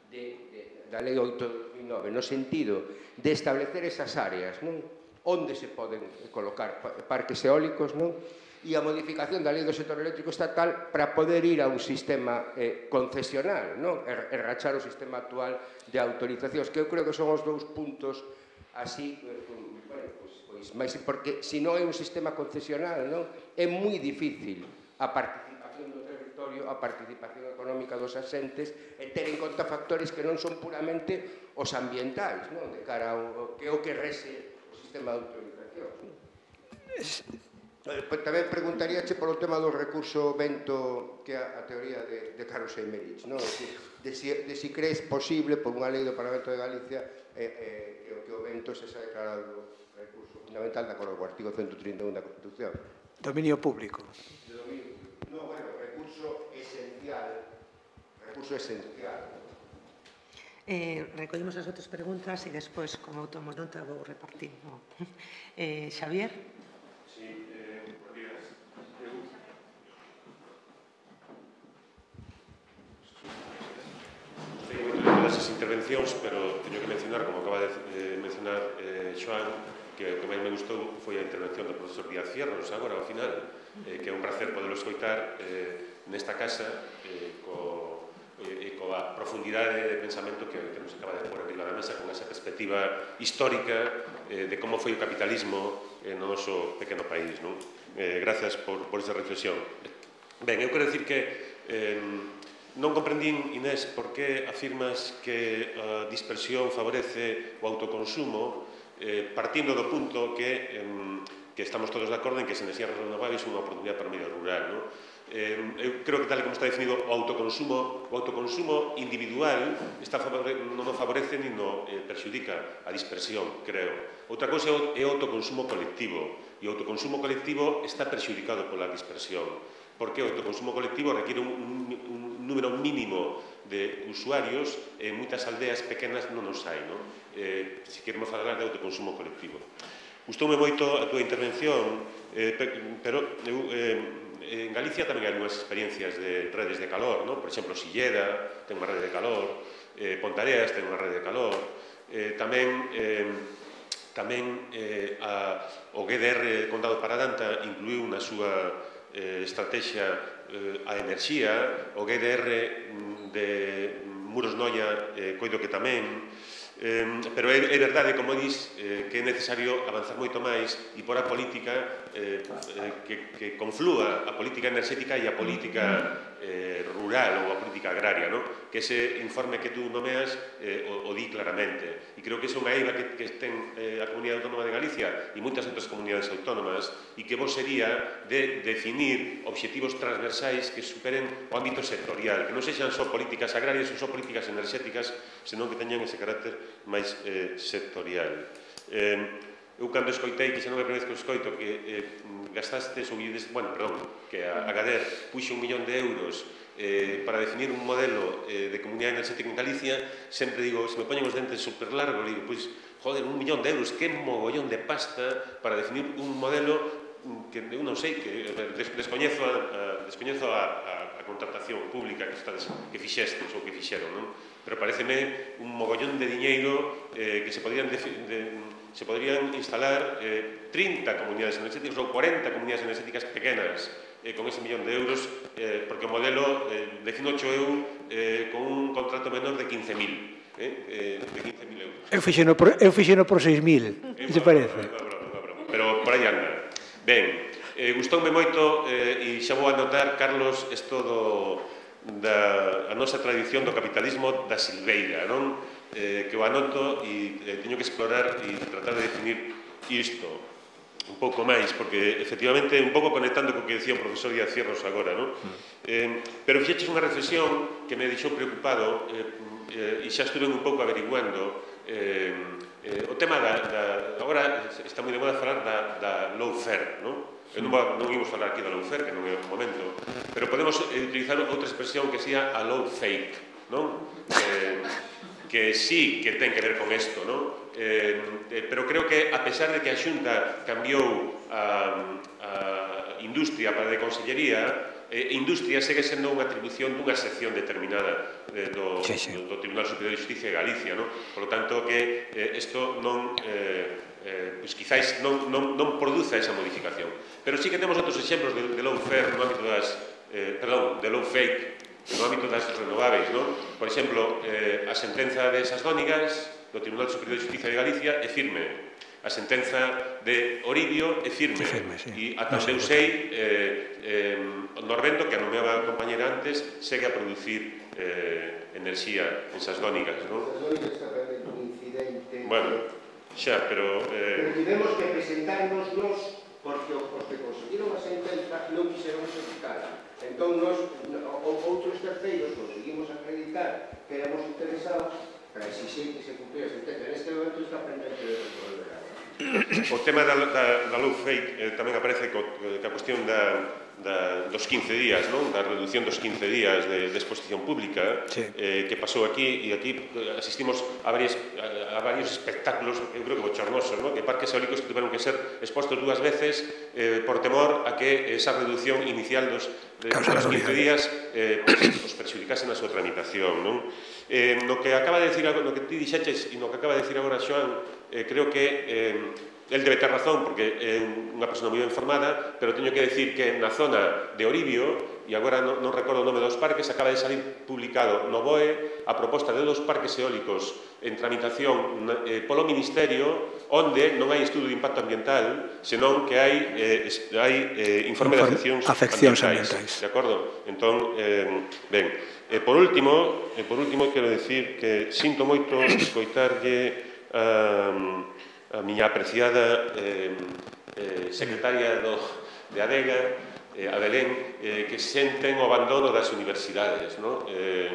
de, de, da lei oito de dos mil nove, no sentido de establecer esas áreas, non? Onde se poden colocar parques eólicos, non? E a modificación da lei do sector eléctrico estatal para poder ir a un sistema eh, concesional, non? E, e rachar o sistema actual de autorizacións, que eu creo que son os dous puntos así, eh, bueno, pois, pois, máis, porque se non é un sistema concesional, non? É moi difícil a participación do territorio, a participación económica dos asentes, e ter en conta factores que non son puramente os ambientais, non? De cara ao que é o que rese o sistema de autorizacións, non? Tamén preguntaríache polo tema do recurso vento, que é a teoría de, de Carlos Eimerich, non? De si, de si crees posible, por unha lei do Parlamento de Galicia, eh, eh, que o vento se xa declarado recurso fundamental de acordo co artigo ciento trinta e un da Constitución. Dominio público. De dominio. No, bueno, recurso esencial. Recurso esencial. Eh, recollemos as outras preguntas e despois, como tomo nota, vou repartindo. Eh, Xavier? Sí. Esas intervencións, pero teño que mencionar, como acaba de mencionar eh, Xoán, que o que máis me gustou foi a intervención do profesor Díaz Fierros, agora, ao final, eh, que é un placer poderlo escoitar eh, nesta casa eh, co, eh, coa profundidade de pensamento que, que nos acaba de pôr arriba da mesa, con esa perspectiva histórica eh, de como foi o capitalismo eh, no noso pequeno país, non? Eh, gracias por, por esa reflexión. Ben, eu quero dicir que eh, non comprendín, Inés, por que afirmas que a dispersión favorece o autoconsumo eh, partindo do punto que, eh, que estamos todos de acordo en que as enerxías renováveis son unha oportunidade para o medio rural, non? Eh, eu creo que tal como está definido o autoconsumo, o autoconsumo individual está favore, non o favorece ni no eh, perxudica a dispersión, creo. Outra cousa é o autoconsumo colectivo, e o autoconsumo colectivo está perxudicado pola dispersión, porque o autoconsumo colectivo requiere un, un, un número mínimo de usuarios e en moitas aldeas pequenas non os hai, non? Eh, se queremos falar de autoconsumo colectivo. Gustoume moito a túa intervención, eh, pero eu... Eh, en Galicia tamén hai algunhas experiencias de redes de calor, ¿no? Por exemplo, Silleda ten unha rede de calor, eh, Pontareas ten unha rede de calor, eh, tamén eh, tamén eh, a, o G D R Condado Paradanta incluiu na súa eh, estrategia eh, a enerxía, o G D R de Muros Noia eh, coido que tamén, Eh, pero é, é verdade, como dis, eh, que é necesario avanzar moito máis e por a política eh, eh, que, que conflúa a política enerxética e a política eh, rural ou a política agraria, ¿no? Que ese informe que tú nomeas eh, o, o di claramente. E creo que é unha eiva que, que ten eh, a Comunidade Autónoma de Galicia e moitas outras comunidades autónomas e que vos sería de definir obxectivos transversais que superen o ámbito sectorial, que non sexan só políticas agrarias ou só políticas enerxéticas, senón que teñan ese carácter máis eh, sectorial. Eh, eu cando escoitei, que xa non me primeira vez que escoito, que eh, gastastes, ou ides, bueno, perdón, que a, a Gader puxe un millón de euros eh, para definir un modelo eh, de comunidade enerxética en Galicia, sempre digo, se me poñen os dentes super largos, digo, pois, joder, un millón de euros, que mogollón de pasta para definir un modelo que eu non sei, que des, descoñezo, a, a, descoñezo a, a, a contratación pública que, estades, que fixestes ou que fixeron, non? Pero pareceme un mogollón de diñeiro eh, que se podrían, de, de, se podrían instalar eh, trinta comunidades enerxéticas ou cuarenta comunidades enerxéticas pequenas eh, con ese millón de euros, eh, porque o modelo eh, defino ocho eu eh, con un contrato menor de quince mil. Eh, eh, de quince mil euros. Eu fixeno por, eu fixeno por seis mil, que te parece? Pero por aí anda. Ben, eh, gustoume moito eh, e xa vou anotar, Carlos, isto do, da a nosa tradición do capitalismo da silveira, non? Eh, que o anoto e eh, teño que explorar e tratar de definir isto un pouco máis, porque efectivamente un pouco conectando co que decía o profesor Díaz Cierros agora, non? Eh, pero fixeches unha reflexión que me deixou preocupado eh, eh, e xa estuve un pouco averiguando eh, eh, o tema da, da agora está moi de moda falar da, da lawfare, non? Eu non, non imos falar aquí da lawfare, que non é o momento, pero podemos eh, utilizar outra expresión que sea a law fake, non? Eh, que sí que ten que ver con isto, non? Eh, eh, pero creo que, a pesar de que a Xunta cambiou a, a industria para de consellería, eh, industria segue sendo unha atribución dunha sección determinada eh, do, sí, sí. do, do Tribunal Superior de Justicia de Galicia, non? Por lo tanto, que isto eh, non... Eh, Eh, pois quizáis non, non, non produza esa modificación. Pero sí que temos outros exemplos de, de lawfare no ámbito das, eh, perdón, de lawfake no ámbito das renováveis, non? Por exemplo, eh, a sentenza de esas dónigas do Tribunal Superior de Justicia de Galicia é firme. A sentenza de Oribio é firme. É firme, sí. E ata onde eu sei, eh, eh, Norvento, que a nomeaba a compañera antes, segue a producir eh, enerxía en esas dónigas, non? Esas dónigas está pendente un incidente... Bueno, xa, pero... Eh... Pero tivemos que presentarnos nos porque os que conseguiron a sentenza non quixeron executar. Entón, nos, outros terceiros conseguimos acreditar que éramos interesados para exigir que se cumplira a sentenza. Neste momento está pendente de resolver. O tema da, da, da law fake eh, tamén aparece co, que a cuestión da, da, dos quince días, non? Da reducción dos quince días de, de exposición pública, sí. eh, que pasou aquí, e aquí asistimos a, varias, a, a varios espectáculos, eu creo que bochornosos, non? Que parques eólicos que tuveron que ser expostos dúas veces eh, por temor a que esa reducción inicial dos, de, dos quince días eh, pues, pues perxudicase na súa tramitación, non? Eh, no que acaba de decir, no que ti dixeches e no que acaba de decir agora Xoán, eh, creo que eh, el debe ter razón porque é unha persona moi ben formada, pero teño que decir que na zona de Oribio, e agora non, non recordo o nome dos parques, acaba de salir publicado no B O E a proposta de dos parques eólicos en tramitación eh, polo Ministerio, onde non hai estudo de impacto ambiental, senón que hai, eh, hai eh, informe de afeccións, afeccións ambientais. ambientais. De acordo? Entón, eh, ben, E por último, e por último quero decir que sinto moito escoitarlle a, a miña apreciada eh, eh, secretaria do, de Adega, eh, a Belén, eh, que senten o abandono das universidades, no? Eh,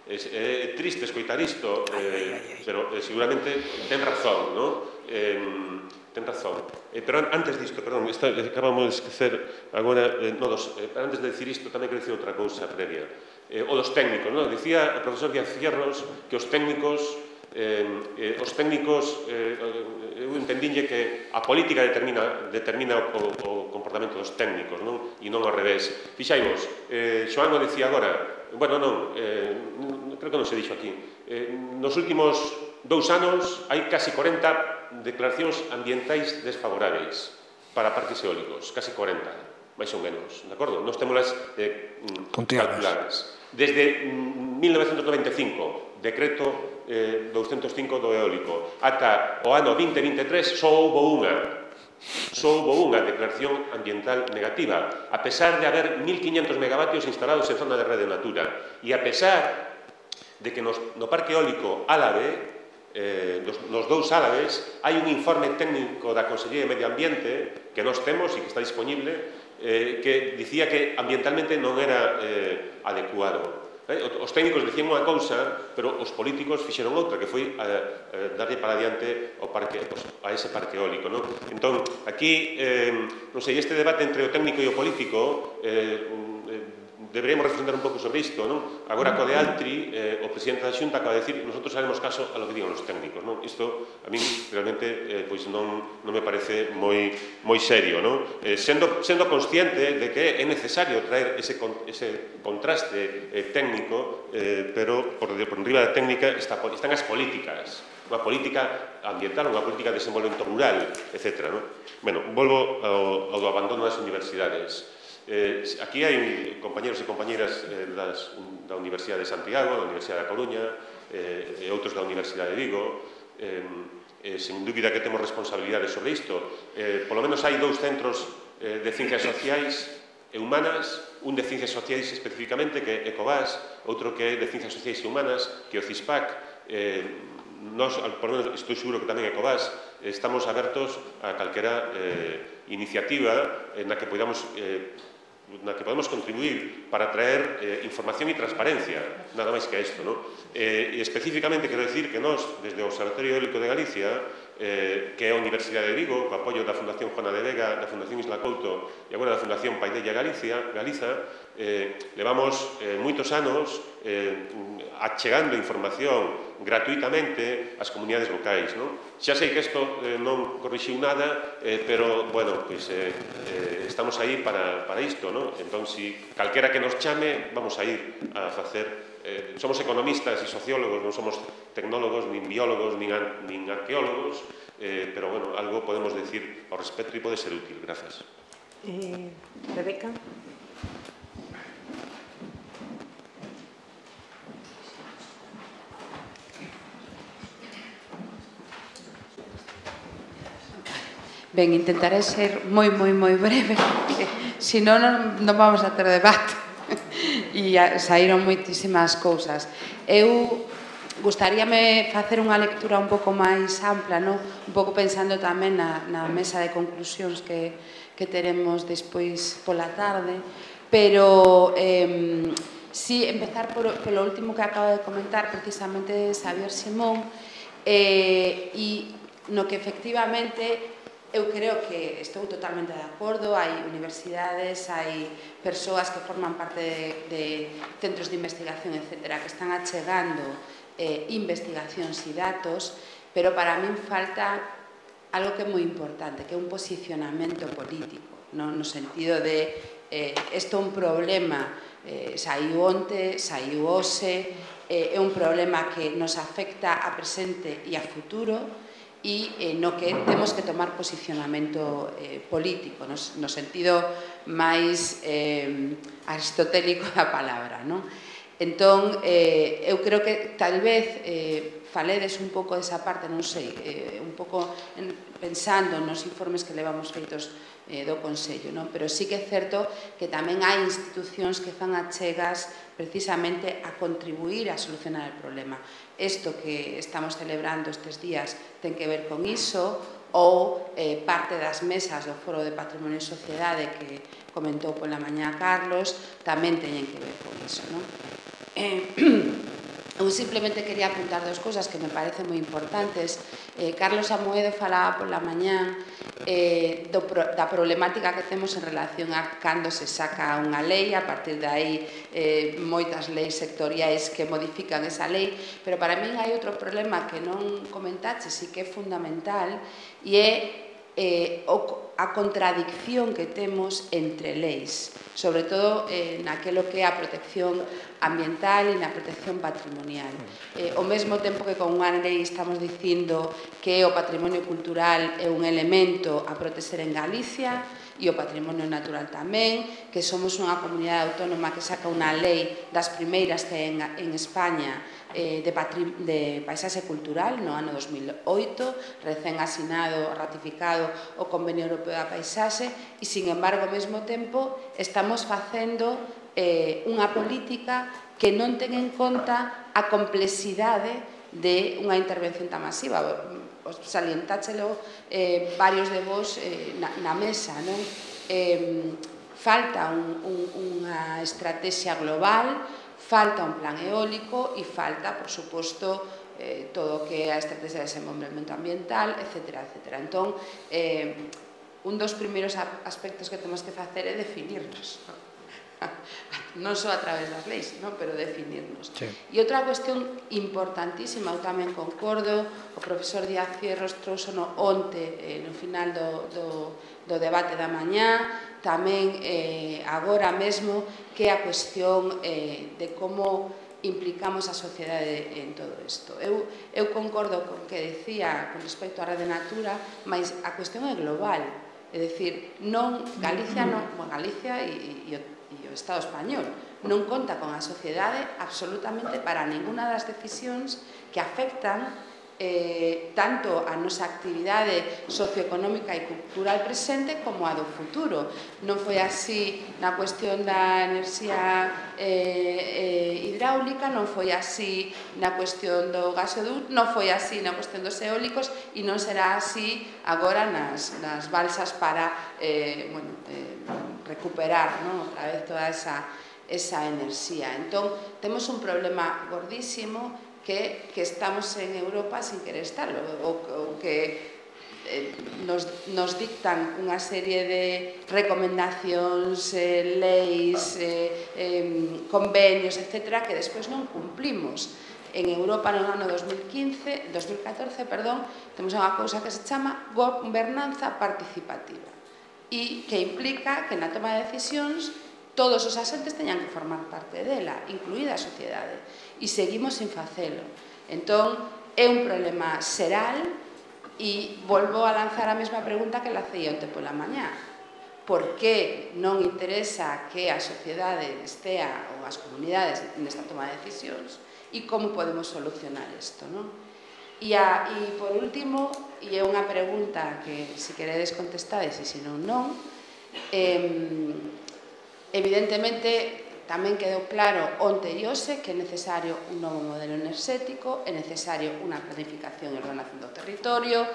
é, é triste escoitar isto, eh, pero eh, seguramente ten razón, no? Eh, ten razón. Eh, pero antes disto, perdón, esta, acabamos de esquecer agora, eh, no, dos, eh, antes de decir isto, tamén quero decir outra cousa previa. Eh, o dos técnicos, non? Dicía o profesor Díaz Cierros que os técnicos eh, os técnicos, eh, eu entendinlle que a política determina, determina o, o comportamento dos técnicos, non? E non ao revés. Fixaimos, eh, Xoán o dicía agora, bueno, non, eh, creo que non se dixo aquí, eh, nos últimos dous anos hai casi corenta declaracións ambientais desfavoráveis para parques eólicos, casi corenta, máis ou menos, de acordo? Nos temolas eh, calculadas. Desde mil novecentos noventa e cinco, decreto eh, douscentos cinco do eólico, ata o ano vinte vinte e tres só houbo unha, só houbo unha declaración ambiental negativa, a pesar de haber mil quinhentos megavatios instalados en zona de rede natura, e a pesar de que nos, no parque eólico Álave, eh, nos, nos dous Álaves, hai un informe técnico da Consellería de Medio Ambiente que nós temos e que está disponible, eh, que dicía que ambientalmente non era eh, adecuado. Eh, os técnicos dicían unha cousa, pero os políticos fixeron outra, que foi eh, eh, darlle para adiante ao parque, a ese parque eólico. Non? Entón, aquí, eh, non sei, este debate entre o técnico e o político, eh, deberíamos reflexionar un pouco sobre isto, non? Agora, co de Altri, eh, o presidente da Xunta acaba de decir nosotros haremos caso a lo que digan os técnicos, non? Isto, a min, realmente, eh, pois non, non me parece moi, moi serio, non? Eh, sendo, sendo consciente de que é necesario traer ese, ese contraste eh, técnico, eh, pero por, por enriba da técnica está, están as políticas, unha política ambiental, unha política de desenvolvemento rural, etcétera, non? Bueno, volvo ao, ao do abandono das universidades. Eh, aquí hai compañeros e compañeras eh, das, da Universidade de Santiago, da Universidade da Coruña eh, e outros da Universidade de Vigo. Eh, eh, sen dúbida que temos responsabilidades sobre isto. Eh, polo menos hai dous centros eh, de ciencias sociais e humanas, un de ciencias sociais especificamente, que é Ecovas, outro que é de ciencias sociais e humanas, que é o CISPAC. Eh, Nos, por lo menos, estou seguro que tamén Ecovas, estamos abertos a calquera eh, iniciativa na que podamos eh, na que podemos contribuir para traer eh, información e transparencia, nada máis que isto, non? Eh, e especificamente quero decir que nós, desde o Observatorio Eólico de Galicia, eh, que é a Universidade de Vigo, co apoio da Fundación Juana de Vega, da Fundación Isla Couto e agora da Fundación Paidella Galicia, Galiza, eh, levamos eh, moitos anos eh, achegando información gratuitamente ás comunidades locais, non? Xa sei que isto eh, non corrixiu nada, eh, pero, bueno, pois, eh, eh, estamos aí para, para isto, non? Entón, si calquera que nos chame, vamos a ir a facer... Eh, somos economistas e sociólogos, non somos tecnólogos, nin biólogos, nin, nin arqueólogos, eh, pero, bueno, algo podemos decir ao respecto e pode ser útil. Grazas. Eh, Rebeca. Ben, intentaré ser moi, moi, moi breve, porque senón non, non vamos a ter debate. E saíron moitísimas cousas. Eu gustaríame facer unha lectura un pouco máis ampla, non? Un pouco pensando tamén na, na mesa de conclusións que, que teremos despois pola tarde, pero eh, si empezar por, polo último que acabo de comentar, precisamente Xavier Simón, eh, e no que efectivamente eu creo que estou totalmente de acordo, hai universidades, hai persoas que forman parte de, de centros de investigación, etcétera, que están achegando eh, investigacións e datos, pero para min falta algo que é moi importante, que é un posicionamento político, no, no sentido de eh, isto é un problema, eh, saiu onte, saiu hoxe, eh, é un problema que nos afecta a presente e a futuro, e eh, no que temos que tomar posicionamento eh, político, no, no sentido máis eh, aristotélico da palabra, non? Entón, eh, eu creo que tal vez eh, faledes un pouco desa parte, non sei, eh, un pouco en, pensando nos informes que levamos feitos eh, do Consello, non? Pero sí que é certo que tamén hai institucións que fan achegas precisamente a contribuir a solucionar o problema. Isto que estamos celebrando estes días ten que ver con iso, ou eh, parte das mesas do Foro de Patrimonio e Sociedade que comentou pola mañá Carlos tamén teñen que ver con iso, non? Eh, Eu simplemente quería apuntar dos cousas que me parecen moi importantes. Eh, Carlos Amoedo falaba pola mañán eh, do, da problemática que temos en relación a cando se saca unha lei, a partir de aí eh, moitas leis sectoriais que modifican esa lei, pero para min hai outro problema que non comentaxe, e que é fundamental, e é eh, a contradicción que temos entre leis, sobre todo eh, naquelo que é a protección ambiental e na protección patrimonial. Eh, ao mesmo tempo que con unha lei estamos dicindo que o patrimonio cultural é un elemento a proteger en Galicia e o patrimonio natural tamén, que somos unha comunidade autónoma que saca unha lei das primeiras que en, en España eh, de, de paisaxe cultural no ano dos mil oito, recén asinado, ratificado o Convenio Europeo da Paisaxe, e, sin embargo, ao mesmo tempo estamos facendo eh, unha política que non ten en conta a complexidade de unha intervención tan masiva. Salientáchelo eh, varios de vos eh, na, na mesa, non? Eh, falta un, un, unha estrategia global, falta un plan eólico e falta, por suposto, eh, todo o que é a estrategia de desenvolvemento ambiental, etcétera, etcétera. Entón, eh, un dos primeiros aspectos que temos que facer é definirnos, non só a través das leis, no? Pero definirnos. Sí. E outra cuestión importantísima, eu tamén concordo, o profesor Díaz Fierros trouxe no onte, eh, no final do, do, do debate da mañá, tamén eh, agora mesmo, que é a cuestión eh, de como implicamos a sociedade en todo isto. Eu, eu concordo con que decía con respecto á Rede Natura, mas a cuestión é global. É dicir, non, Galicia, non, bueno, Galicia e, e, e o Estado español non conta con a sociedade absolutamente para ninguna das decisións que afectan eh, tanto a nosa actividade socioeconómica e cultural presente como a do futuro. Non foi así na cuestión da enerxía eh, eh, hidráulica, non foi así na cuestión do gasoducto, non foi así na cuestión dos eólicos e non será así agora nas, nas balsas para eh, bueno, eh, recuperar, ¿no?, outra vez toda esa, esa enerxía. Entón, temos un problema gordísimo que, que estamos en Europa sin querer estarlo, o, o que eh, nos, nos dictan unha serie de recomendacións, eh, leis, eh, eh, convenios, etcétera, que despois non cumplimos. En Europa, no ano dos mil quince, dos mil catorce, perdón, temos unha cousa que se chama gobernanza participativa e que implica que na toma de decisións todos os asentes teñan que formar parte dela, incluída a sociedade, e seguimos sin facelo. Entón, é un problema xeral e volvo a lanzar a mesma pregunta que lacei onte pola mañá. Por que non interesa que a sociedade estea, ou as comunidades, nesta toma de decisións, e como podemos solucionar isto, non? E, a, e por último, e é unha pregunta que se queredes contestades e se non non, eh, evidentemente tamén quedou claro onte e hoxe que é necesario un novo modelo enerxético, é necesario unha planificación e ordenación do territorio,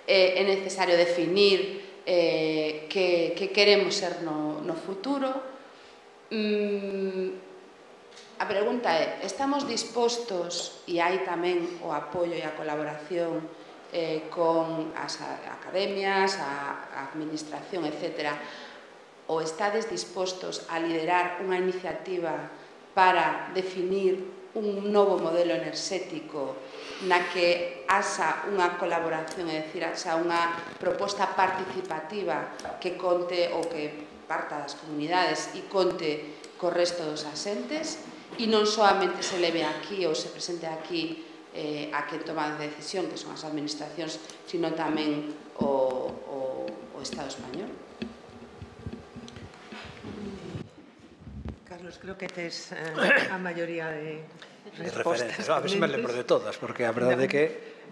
é necesario definir eh, que, que queremos ser no, no futuro. Mm, A pregunta é, estamos dispostos, e hai tamén o apoio e a colaboración eh, con as academias, a administración, etcétera, ou estades dispostos a liderar unha iniciativa para definir un novo modelo enerxético na que haxa unha colaboración, é dicir, haxa unha proposta participativa que conte ou que parta das comunidades e conte co resto dos asentes, e non solamente se leve aquí ou se presente aquí eh, a quen toma a decisión, que son as administracións, sino tamén o, o, o Estado español. Carlos, creo que tes eh, a maioría de respostas. A ver se me lembro de todas, porque a verdade é que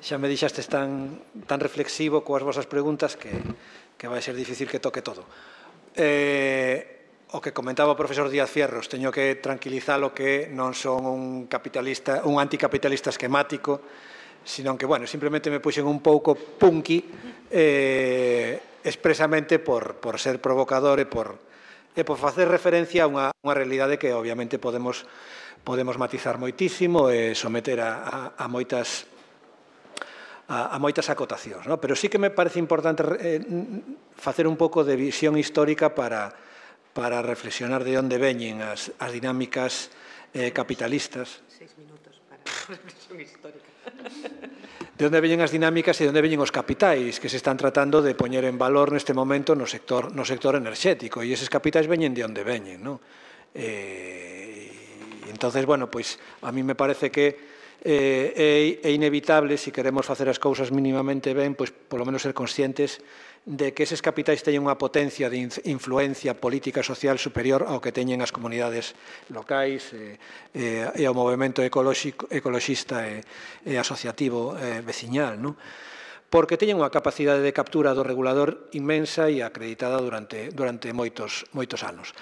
xa me dixastes tan, tan reflexivo coas vosas preguntas que, que vai ser difícil que toque todo. Eh... O que comentaba o profesor Díaz Fierros, teño que tranquilizalo que non son un capitalista, un anticapitalista esquemático, sino que, bueno, simplemente me puxen un pouco punky eh, expresamente por, por ser provocador e por, e por facer referencia a unha, unha realidade que obviamente podemos podemos matizar moitísimo e someter a, a, a moitas a, a moitas acotacións, no? Pero sí que me parece importante eh, facer un pouco de visión histórica para, para reflexionar de onde veñen as, as dinámicas eh, capitalistas. Seis minutos para a reflexión histórica. De onde veñen as dinámicas e de onde veñen os capitais que se están tratando de poñer en valor neste momento no sector, no sector enerxético, e eses capitais veñen de onde veñen, non? Eh, e entonces, bueno, pois a mí me parece que eh, é, é inevitable, se queremos facer as cousas mínimamente ben, pois polo menos ser conscientes de que eses capitais teñen unha potencia de influencia política e social superior ao que teñen as comunidades locais e, e, e ao movimento ecoloxista e, e asociativo e veciñal, non? Porque teñen unha capacidade de captura do regulador inmensa e acreditada durante, durante moitos, moitos anos.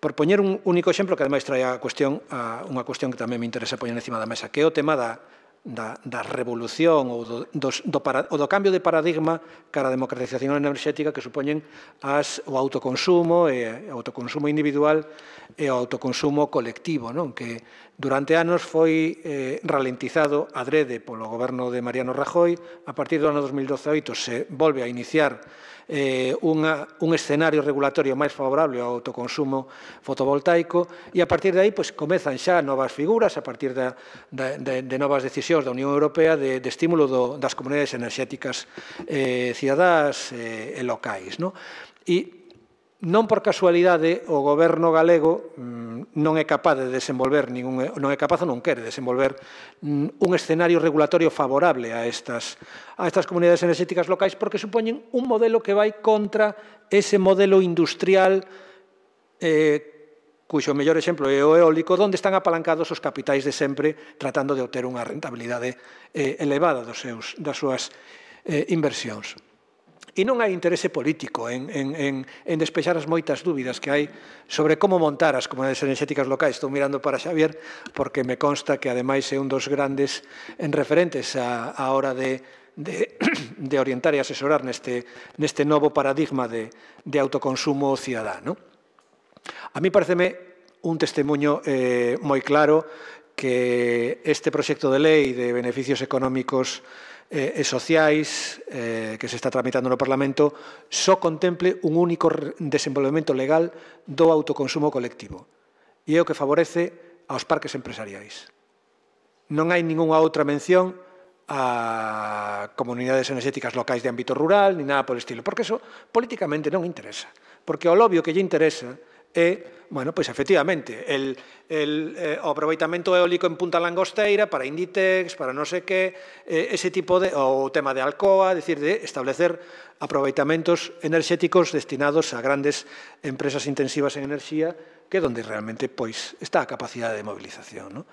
Por poñer un único exemplo, que ademais trae a cuestión, a unha cuestión que tamén me interesa poñer encima da mesa, que é o tema da Da, da revolución ou do, do, do, para, ou do cambio de paradigma cara a democratización enerxética que supoñen as, o autoconsumo e o autoconsumo individual e o autoconsumo colectivo, non? Que durante anos foi eh, ralentizado adrede polo goberno de Mariano Rajoy. A partir do ano dos mil dezaoito se volve a iniciar eh, unha, un escenario regulatorio máis favorable ao autoconsumo fotovoltaico e a partir de aí pues, comezan xa novas figuras a partir da, da, de, de novas decisións da Unión Europea de, de estímulo do, das comunidades enerxéticas eh, cidadás eh, e locais. No? E non por casualidade o goberno galego mmm, non é capaz de desenvolver ningún, non é capaz ou non quere desenvolver mmm, un escenario regulatorio favorable a estas, a estas comunidades enerxéticas locais porque supoñen un modelo que vai contra ese modelo industrial eh, cuxo mellor exemplo é o eólico, onde están apalancados os capitais de sempre tratando de obter unha rentabilidade eh, elevada dos seus, das súas eh, inversións. E non hai interese político en, en, en, en despexar as moitas dúbidas que hai sobre como montar as comunidades enerxéticas locais. Estou mirando para Xavier porque me consta que ademais é un dos grandes en referentes a, a hora de, de, de orientar e asesorar neste, neste novo paradigma de, de autoconsumo cidadán. A mí pareceme un testemunho eh, moi claro que este proxecto de lei de beneficios económicos e sociais eh, que se está tramitando no Parlamento só contemple un único desenvolvemento legal do autoconsumo colectivo e é o que favorece aos parques empresariais. Non hai ningunha outra mención a comunidades enerxéticas locais de ámbito rural ni nada por estilo, porque eso políticamente non interesa, porque o lobio que lle interesa é, bueno, pois efectivamente, el, el, eh, o aproveitamento eólico en Punta Langosteira para Inditex, para non sei que, eh, ese tipo de, o tema de Alcoa, decir, de establecer aproveitamentos enerxéticos destinados a grandes empresas intensivas en enerxía, que é onde realmente, pois, está a capacidade de movilización, non?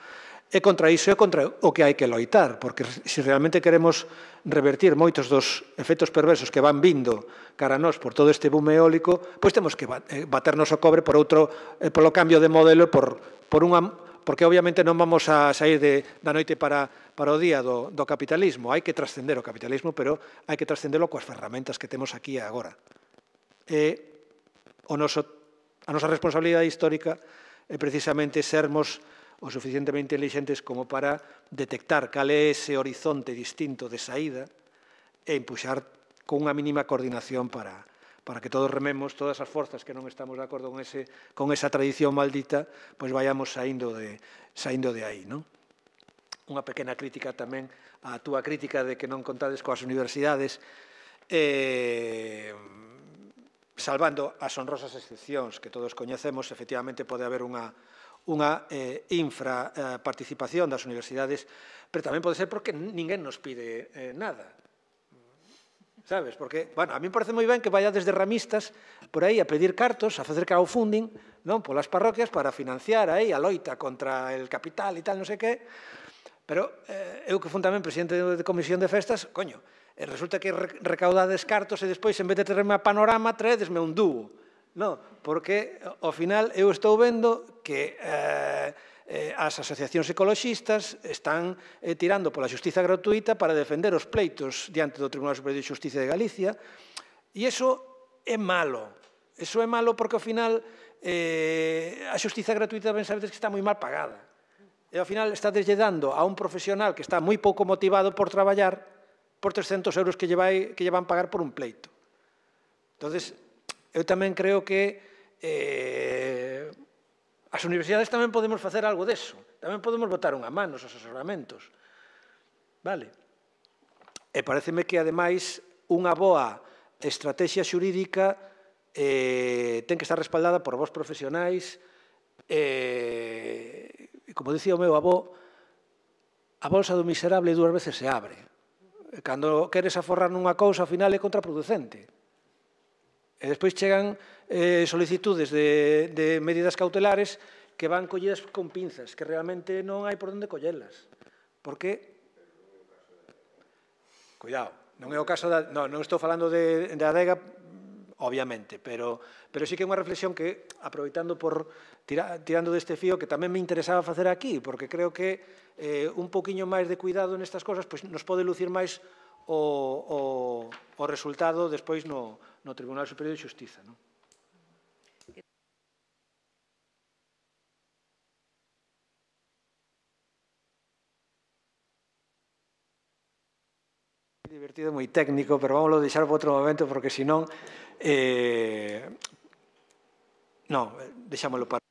E contra iso é contra o que hai que loitar, porque se realmente queremos revertir moitos dos efectos perversos que van vindo cara a nós por todo este boom eólico, pois temos que baternos o cobre por outro, polo cambio de modelo, por, por unha, porque obviamente non vamos a sair de, da noite para, para o día do, do capitalismo. Hai que trascender o capitalismo, pero hai que trascendelo coas ferramentas que temos aquí e agora. E o noso, a nosa responsabilidade histórica é precisamente sermos o suficientemente intelixentes como para detectar cal é ese horizonte distinto de saída e empuxar con unha mínima coordinación para, para que todos rememos, todas as forzas que non estamos de acordo con, ese, con esa tradición maldita, pois vayamos saindo de, saindo de aí, non? Unha pequena crítica tamén á túa crítica de que non contades coas universidades, eh, salvando as honrosas excepcións que todos coñecemos, efectivamente pode haber unha unha eh, infraparticipación das universidades, pero tamén pode ser porque ninguén nos pide eh, nada. Sabes? Porque, bueno, a mí me parece moi ben que vaya desde ramistas por aí a pedir cartos, a facer crowdfunding, non, polas parroquias para financiar aí a loita contra el capital e tal, non sei que, pero eh, eu que fun tamén presidente de comisión de festas, coño, e resulta que recaudades cartos e despois, en vez de traerme a Panorama, traedesme un dúo. No, porque ao final eu estou vendo que eh, eh, as asociacións ecoloxistas están eh, tirando pola xustiza gratuita para defender os pleitos diante do Tribunal Superior de Xustiza de Galicia e iso é malo. Iso é malo porque ao final eh, a xustiza gratuita ben sabedes que está moi mal pagada. E ao final estades lle dando a un profesional que está moi pouco motivado por traballar por trescentos euros que lle, vai, que lle van pagar por un pleito. Entonces, eu tamén creo que eh, as universidades tamén podemos facer algo deso. Tamén podemos botar unha man nos asesoramentos. Vale? E pareceme que, ademais, unha boa estrategia xurídica eh, ten que estar respaldada por vos profesionais e, e como dicía o meu avó, a bolsa do miserable dúas veces se abre. E cando queres aforrar nunha cousa, ao final é contraproducente. E despois chegan eh, solicitudes de, de medidas cautelares que van collidas con pinzas, que realmente non hai por onde collelas. Porque, cuidado, non é o caso da... Non, non estou falando de, de adega, obviamente, pero, pero sí que é unha reflexión que, aproveitando por, tira, tirando deste fío, que tamén me interesaba facer aquí, porque creo que eh, un poquinho máis de cuidado nestas cosas pues, nos pode lucir máis o, o, o resultado despois no, no Tribunal Superior de Xustiza, non? Divertido, moi técnico, pero vamos a deixar para outro momento, porque senón eh, non, deixámoslo para o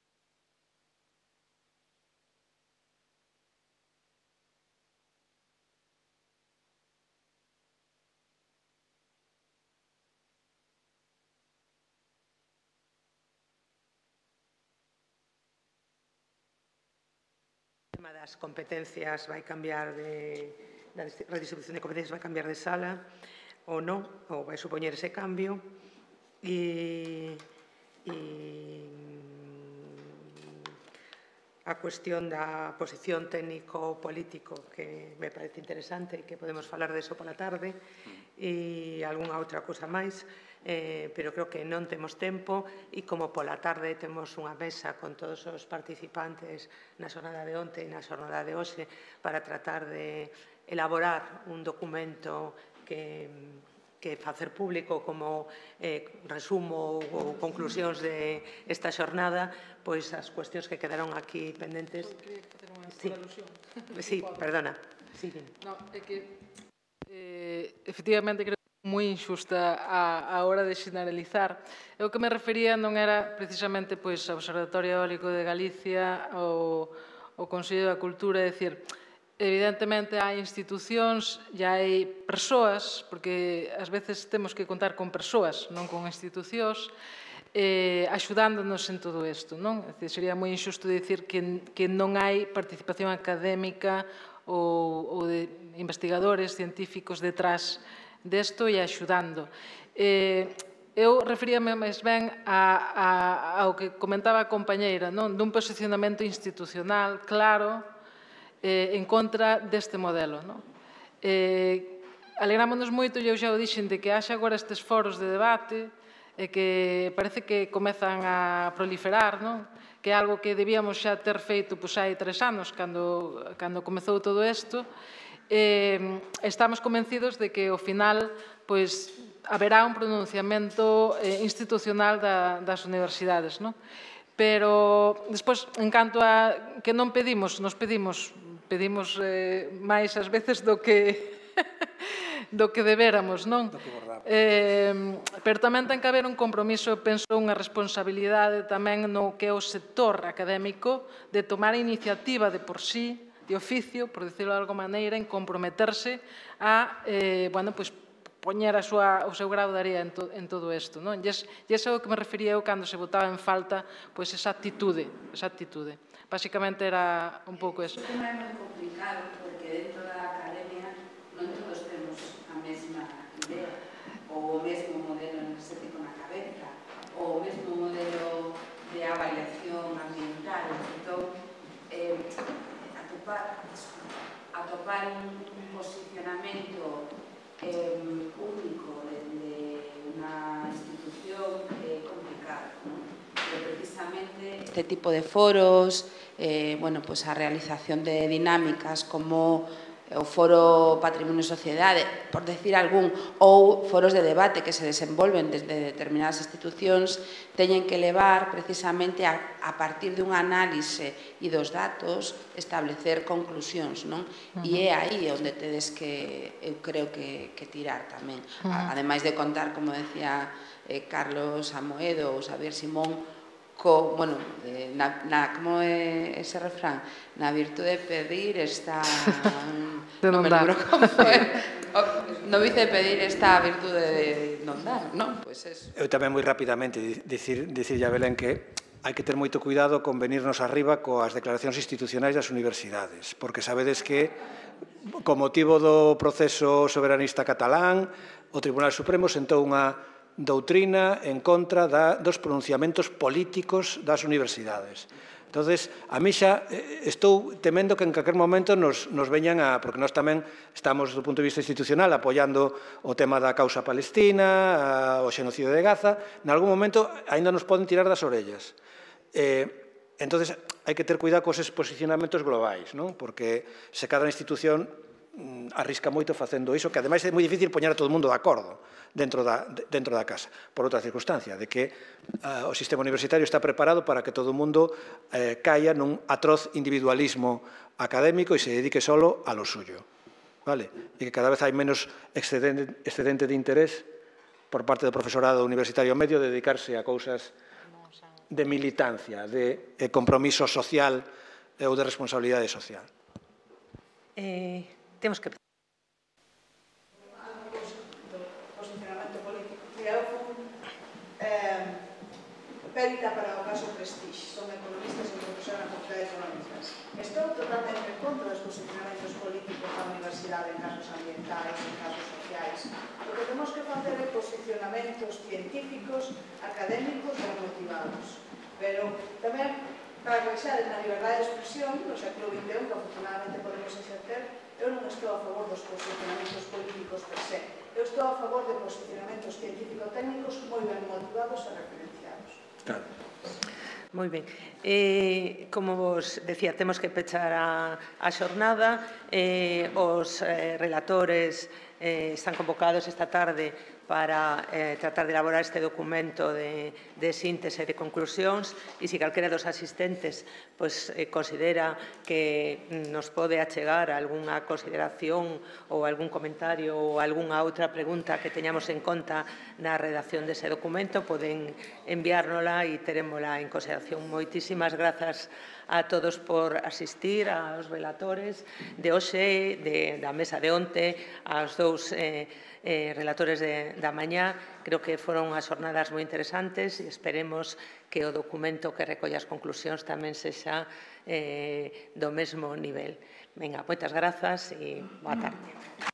tema das competencias vai cambiar de... da redistribución de competencias vai cambiar de sala ou non, ou vai supoñer ese cambio e, e a cuestión da posición técnico-político que me parece interesante e que podemos falar deso pola tarde e algunha outra cousa máis, eh, pero creo que non temos tempo e como pola tarde temos unha mesa con todos os participantes na xornada de onte e na xornada de hoxe para tratar de elaborar un documento que, que facer público como eh, resumo ou conclusións de esta xornada, pois as cuestións que quedaron aquí pendentes. Sí, sí, perdona. Sí, no, é que eh, efectivamente creo que é moi injusta a, a hora de xeneralizar. Eu que me refería non era precisamente pois, ao Observatorio Eólico de Galicia ou o Consello da Cultura, é dicir, evidentemente hai institucións e hai persoas, porque ás veces temos que contar con persoas, non con institucións, eh, axudándonos en todo isto, non? É dicir, sería moi injusto dicir que, que non hai participación académica ou, ou de investigadores científicos detrás desto e axudando. Eh, eu referíame máis ben a, a, ao que comentaba a compañeira, non? Dun posicionamento institucional claro, Eh, en contra deste modelo. Non? Eh, alegrámonos moito, e eu xa o dixen, de que haxa agora estes foros de debate e que parece que comezan a proliferar, non? Que é algo que debíamos xa ter feito pois, hai tres anos, cando, cando comezou todo isto. Eh, estamos convencidos de que, ao final, pois, haberá un pronunciamento eh, institucional da, das universidades, non? Pero, despois, en canto a que non pedimos, nos pedimos pedimos eh, máis ás veces do que do que debéramos, non? Eh, pero tamén ten que haber un compromiso, penso, unha responsabilidade tamén no que é o sector académico de tomar a iniciativa de por sí, de oficio, por decirlo de alguma maneira, en comprometerse a, eh, bueno, pois, poñer a súa, o seu grau de area en, to, en todo isto, non? E ese é o que me refería eu cando se botaba en falta pois, esa actitude, esa actitude. Básicamente era un pouco eso. O tema é moi complicado porque dentro da academia non todos temos a mesma idea ou o mesmo modelo enerxético na cabeza ou o mesmo modelo de avaliación ambiental. Entón, eh, atopar, atopar un posicionamento eh, único de unha institución é complicado, non? Pero precisamente este tipo de foros, eh, bueno, pues a realización de dinámicas como o Foro Patrimonio e Sociedade, por decir algún, ou foros de debate que se desenvolven desde determinadas institucións, teñen que levar precisamente a, a partir dun análise e dos datos establecer conclusións, non? Uh-huh. E é aí onde tedes que, eu creo que, que tirar tamén. Uh-huh. Ademais de contar, como decía eh, Carlos Amoedo ou Xavier Simón, Co, bueno, eh, na, na, como é ese refrán? Na virtude de pedir está... de non dar. No vice de pedir está a virtude de non dar, non? Pois eso. Eu tamén moi rapidamente dicir, dicir a Belén que hai que ter moito cuidado con venirnos arriba coas declaracións institucionais das universidades, porque sabedes que, con motivo do proceso soberanista catalán, o Tribunal Supremo sentou unha doutrina en contra da, dos pronunciamentos políticos das universidades. Entonces, a mí xa estou temendo que en calquer momento nos, nos veñan a... Porque nós tamén estamos, do punto de vista institucional, apoiando o tema da causa palestina, a, o xenocidio de Gaza. En algún momento, ainda nos poden tirar das orellas. Eh, entonces, hai que ter cuidado cos posicionamentos globais, non? Porque se cada institución arrisca moito facendo iso, que ademais é moi difícil poñer a todo o mundo de acordo dentro da, dentro da casa, por outra circunstancia, de que uh, o sistema universitario está preparado para que todo o mundo eh, caia nun atroz individualismo académico e se dedique solo a lo suyo, vale? E que cada vez hai menos excedente, excedente de interés por parte do profesorado universitario medio de dedicarse a cousas de militancia, de, de compromiso social ou de responsabilidade social. Eh... Temos que... Posicionamento político. Mira, eu fui eh, perita para o caso Prestige. Son economista e profesora na Facultade de Económicas. Estou totalmente en contra dos posicionamentos políticos da universidade en casos ambientais, en casos sociais. O que temos que facer é posicionamentos científicos, académicos e motivados. Pero tamén, para que xa na liberdade de expresión, no século vinte e un, que afortunadamente podemos exercer, eu non estou a favor dos posicionamentos políticos per se. Eu estou a favor de posicionamentos científico-técnicos moi ben motivados e referenciados. Claro. Moi ben. Eh, como vos decía, temos que pechar a, a xornada. Eh, os eh, relatores eh, están convocados esta tarde para eh, tratar de elaborar este documento de, de síntese e de conclusións, e se calquera dos asistentes pues, eh, considera que nos pode achegar algunha consideración ou algún comentario ou algunha outra pregunta que teñamos en conta na redacción dese documento, poden enviárnola e terémola en consideración. Moitísimas grazas a todos por asistir, aos relatores de hoxe, de, da mesa de onte, aos dous eh, eh, relatores de, da mañá. Creo que foron as jornadas moi interesantes e esperemos que o documento que recolle as conclusións tamén sexa eh, do mesmo nivel. Venga, moitas grazas e boa tarde.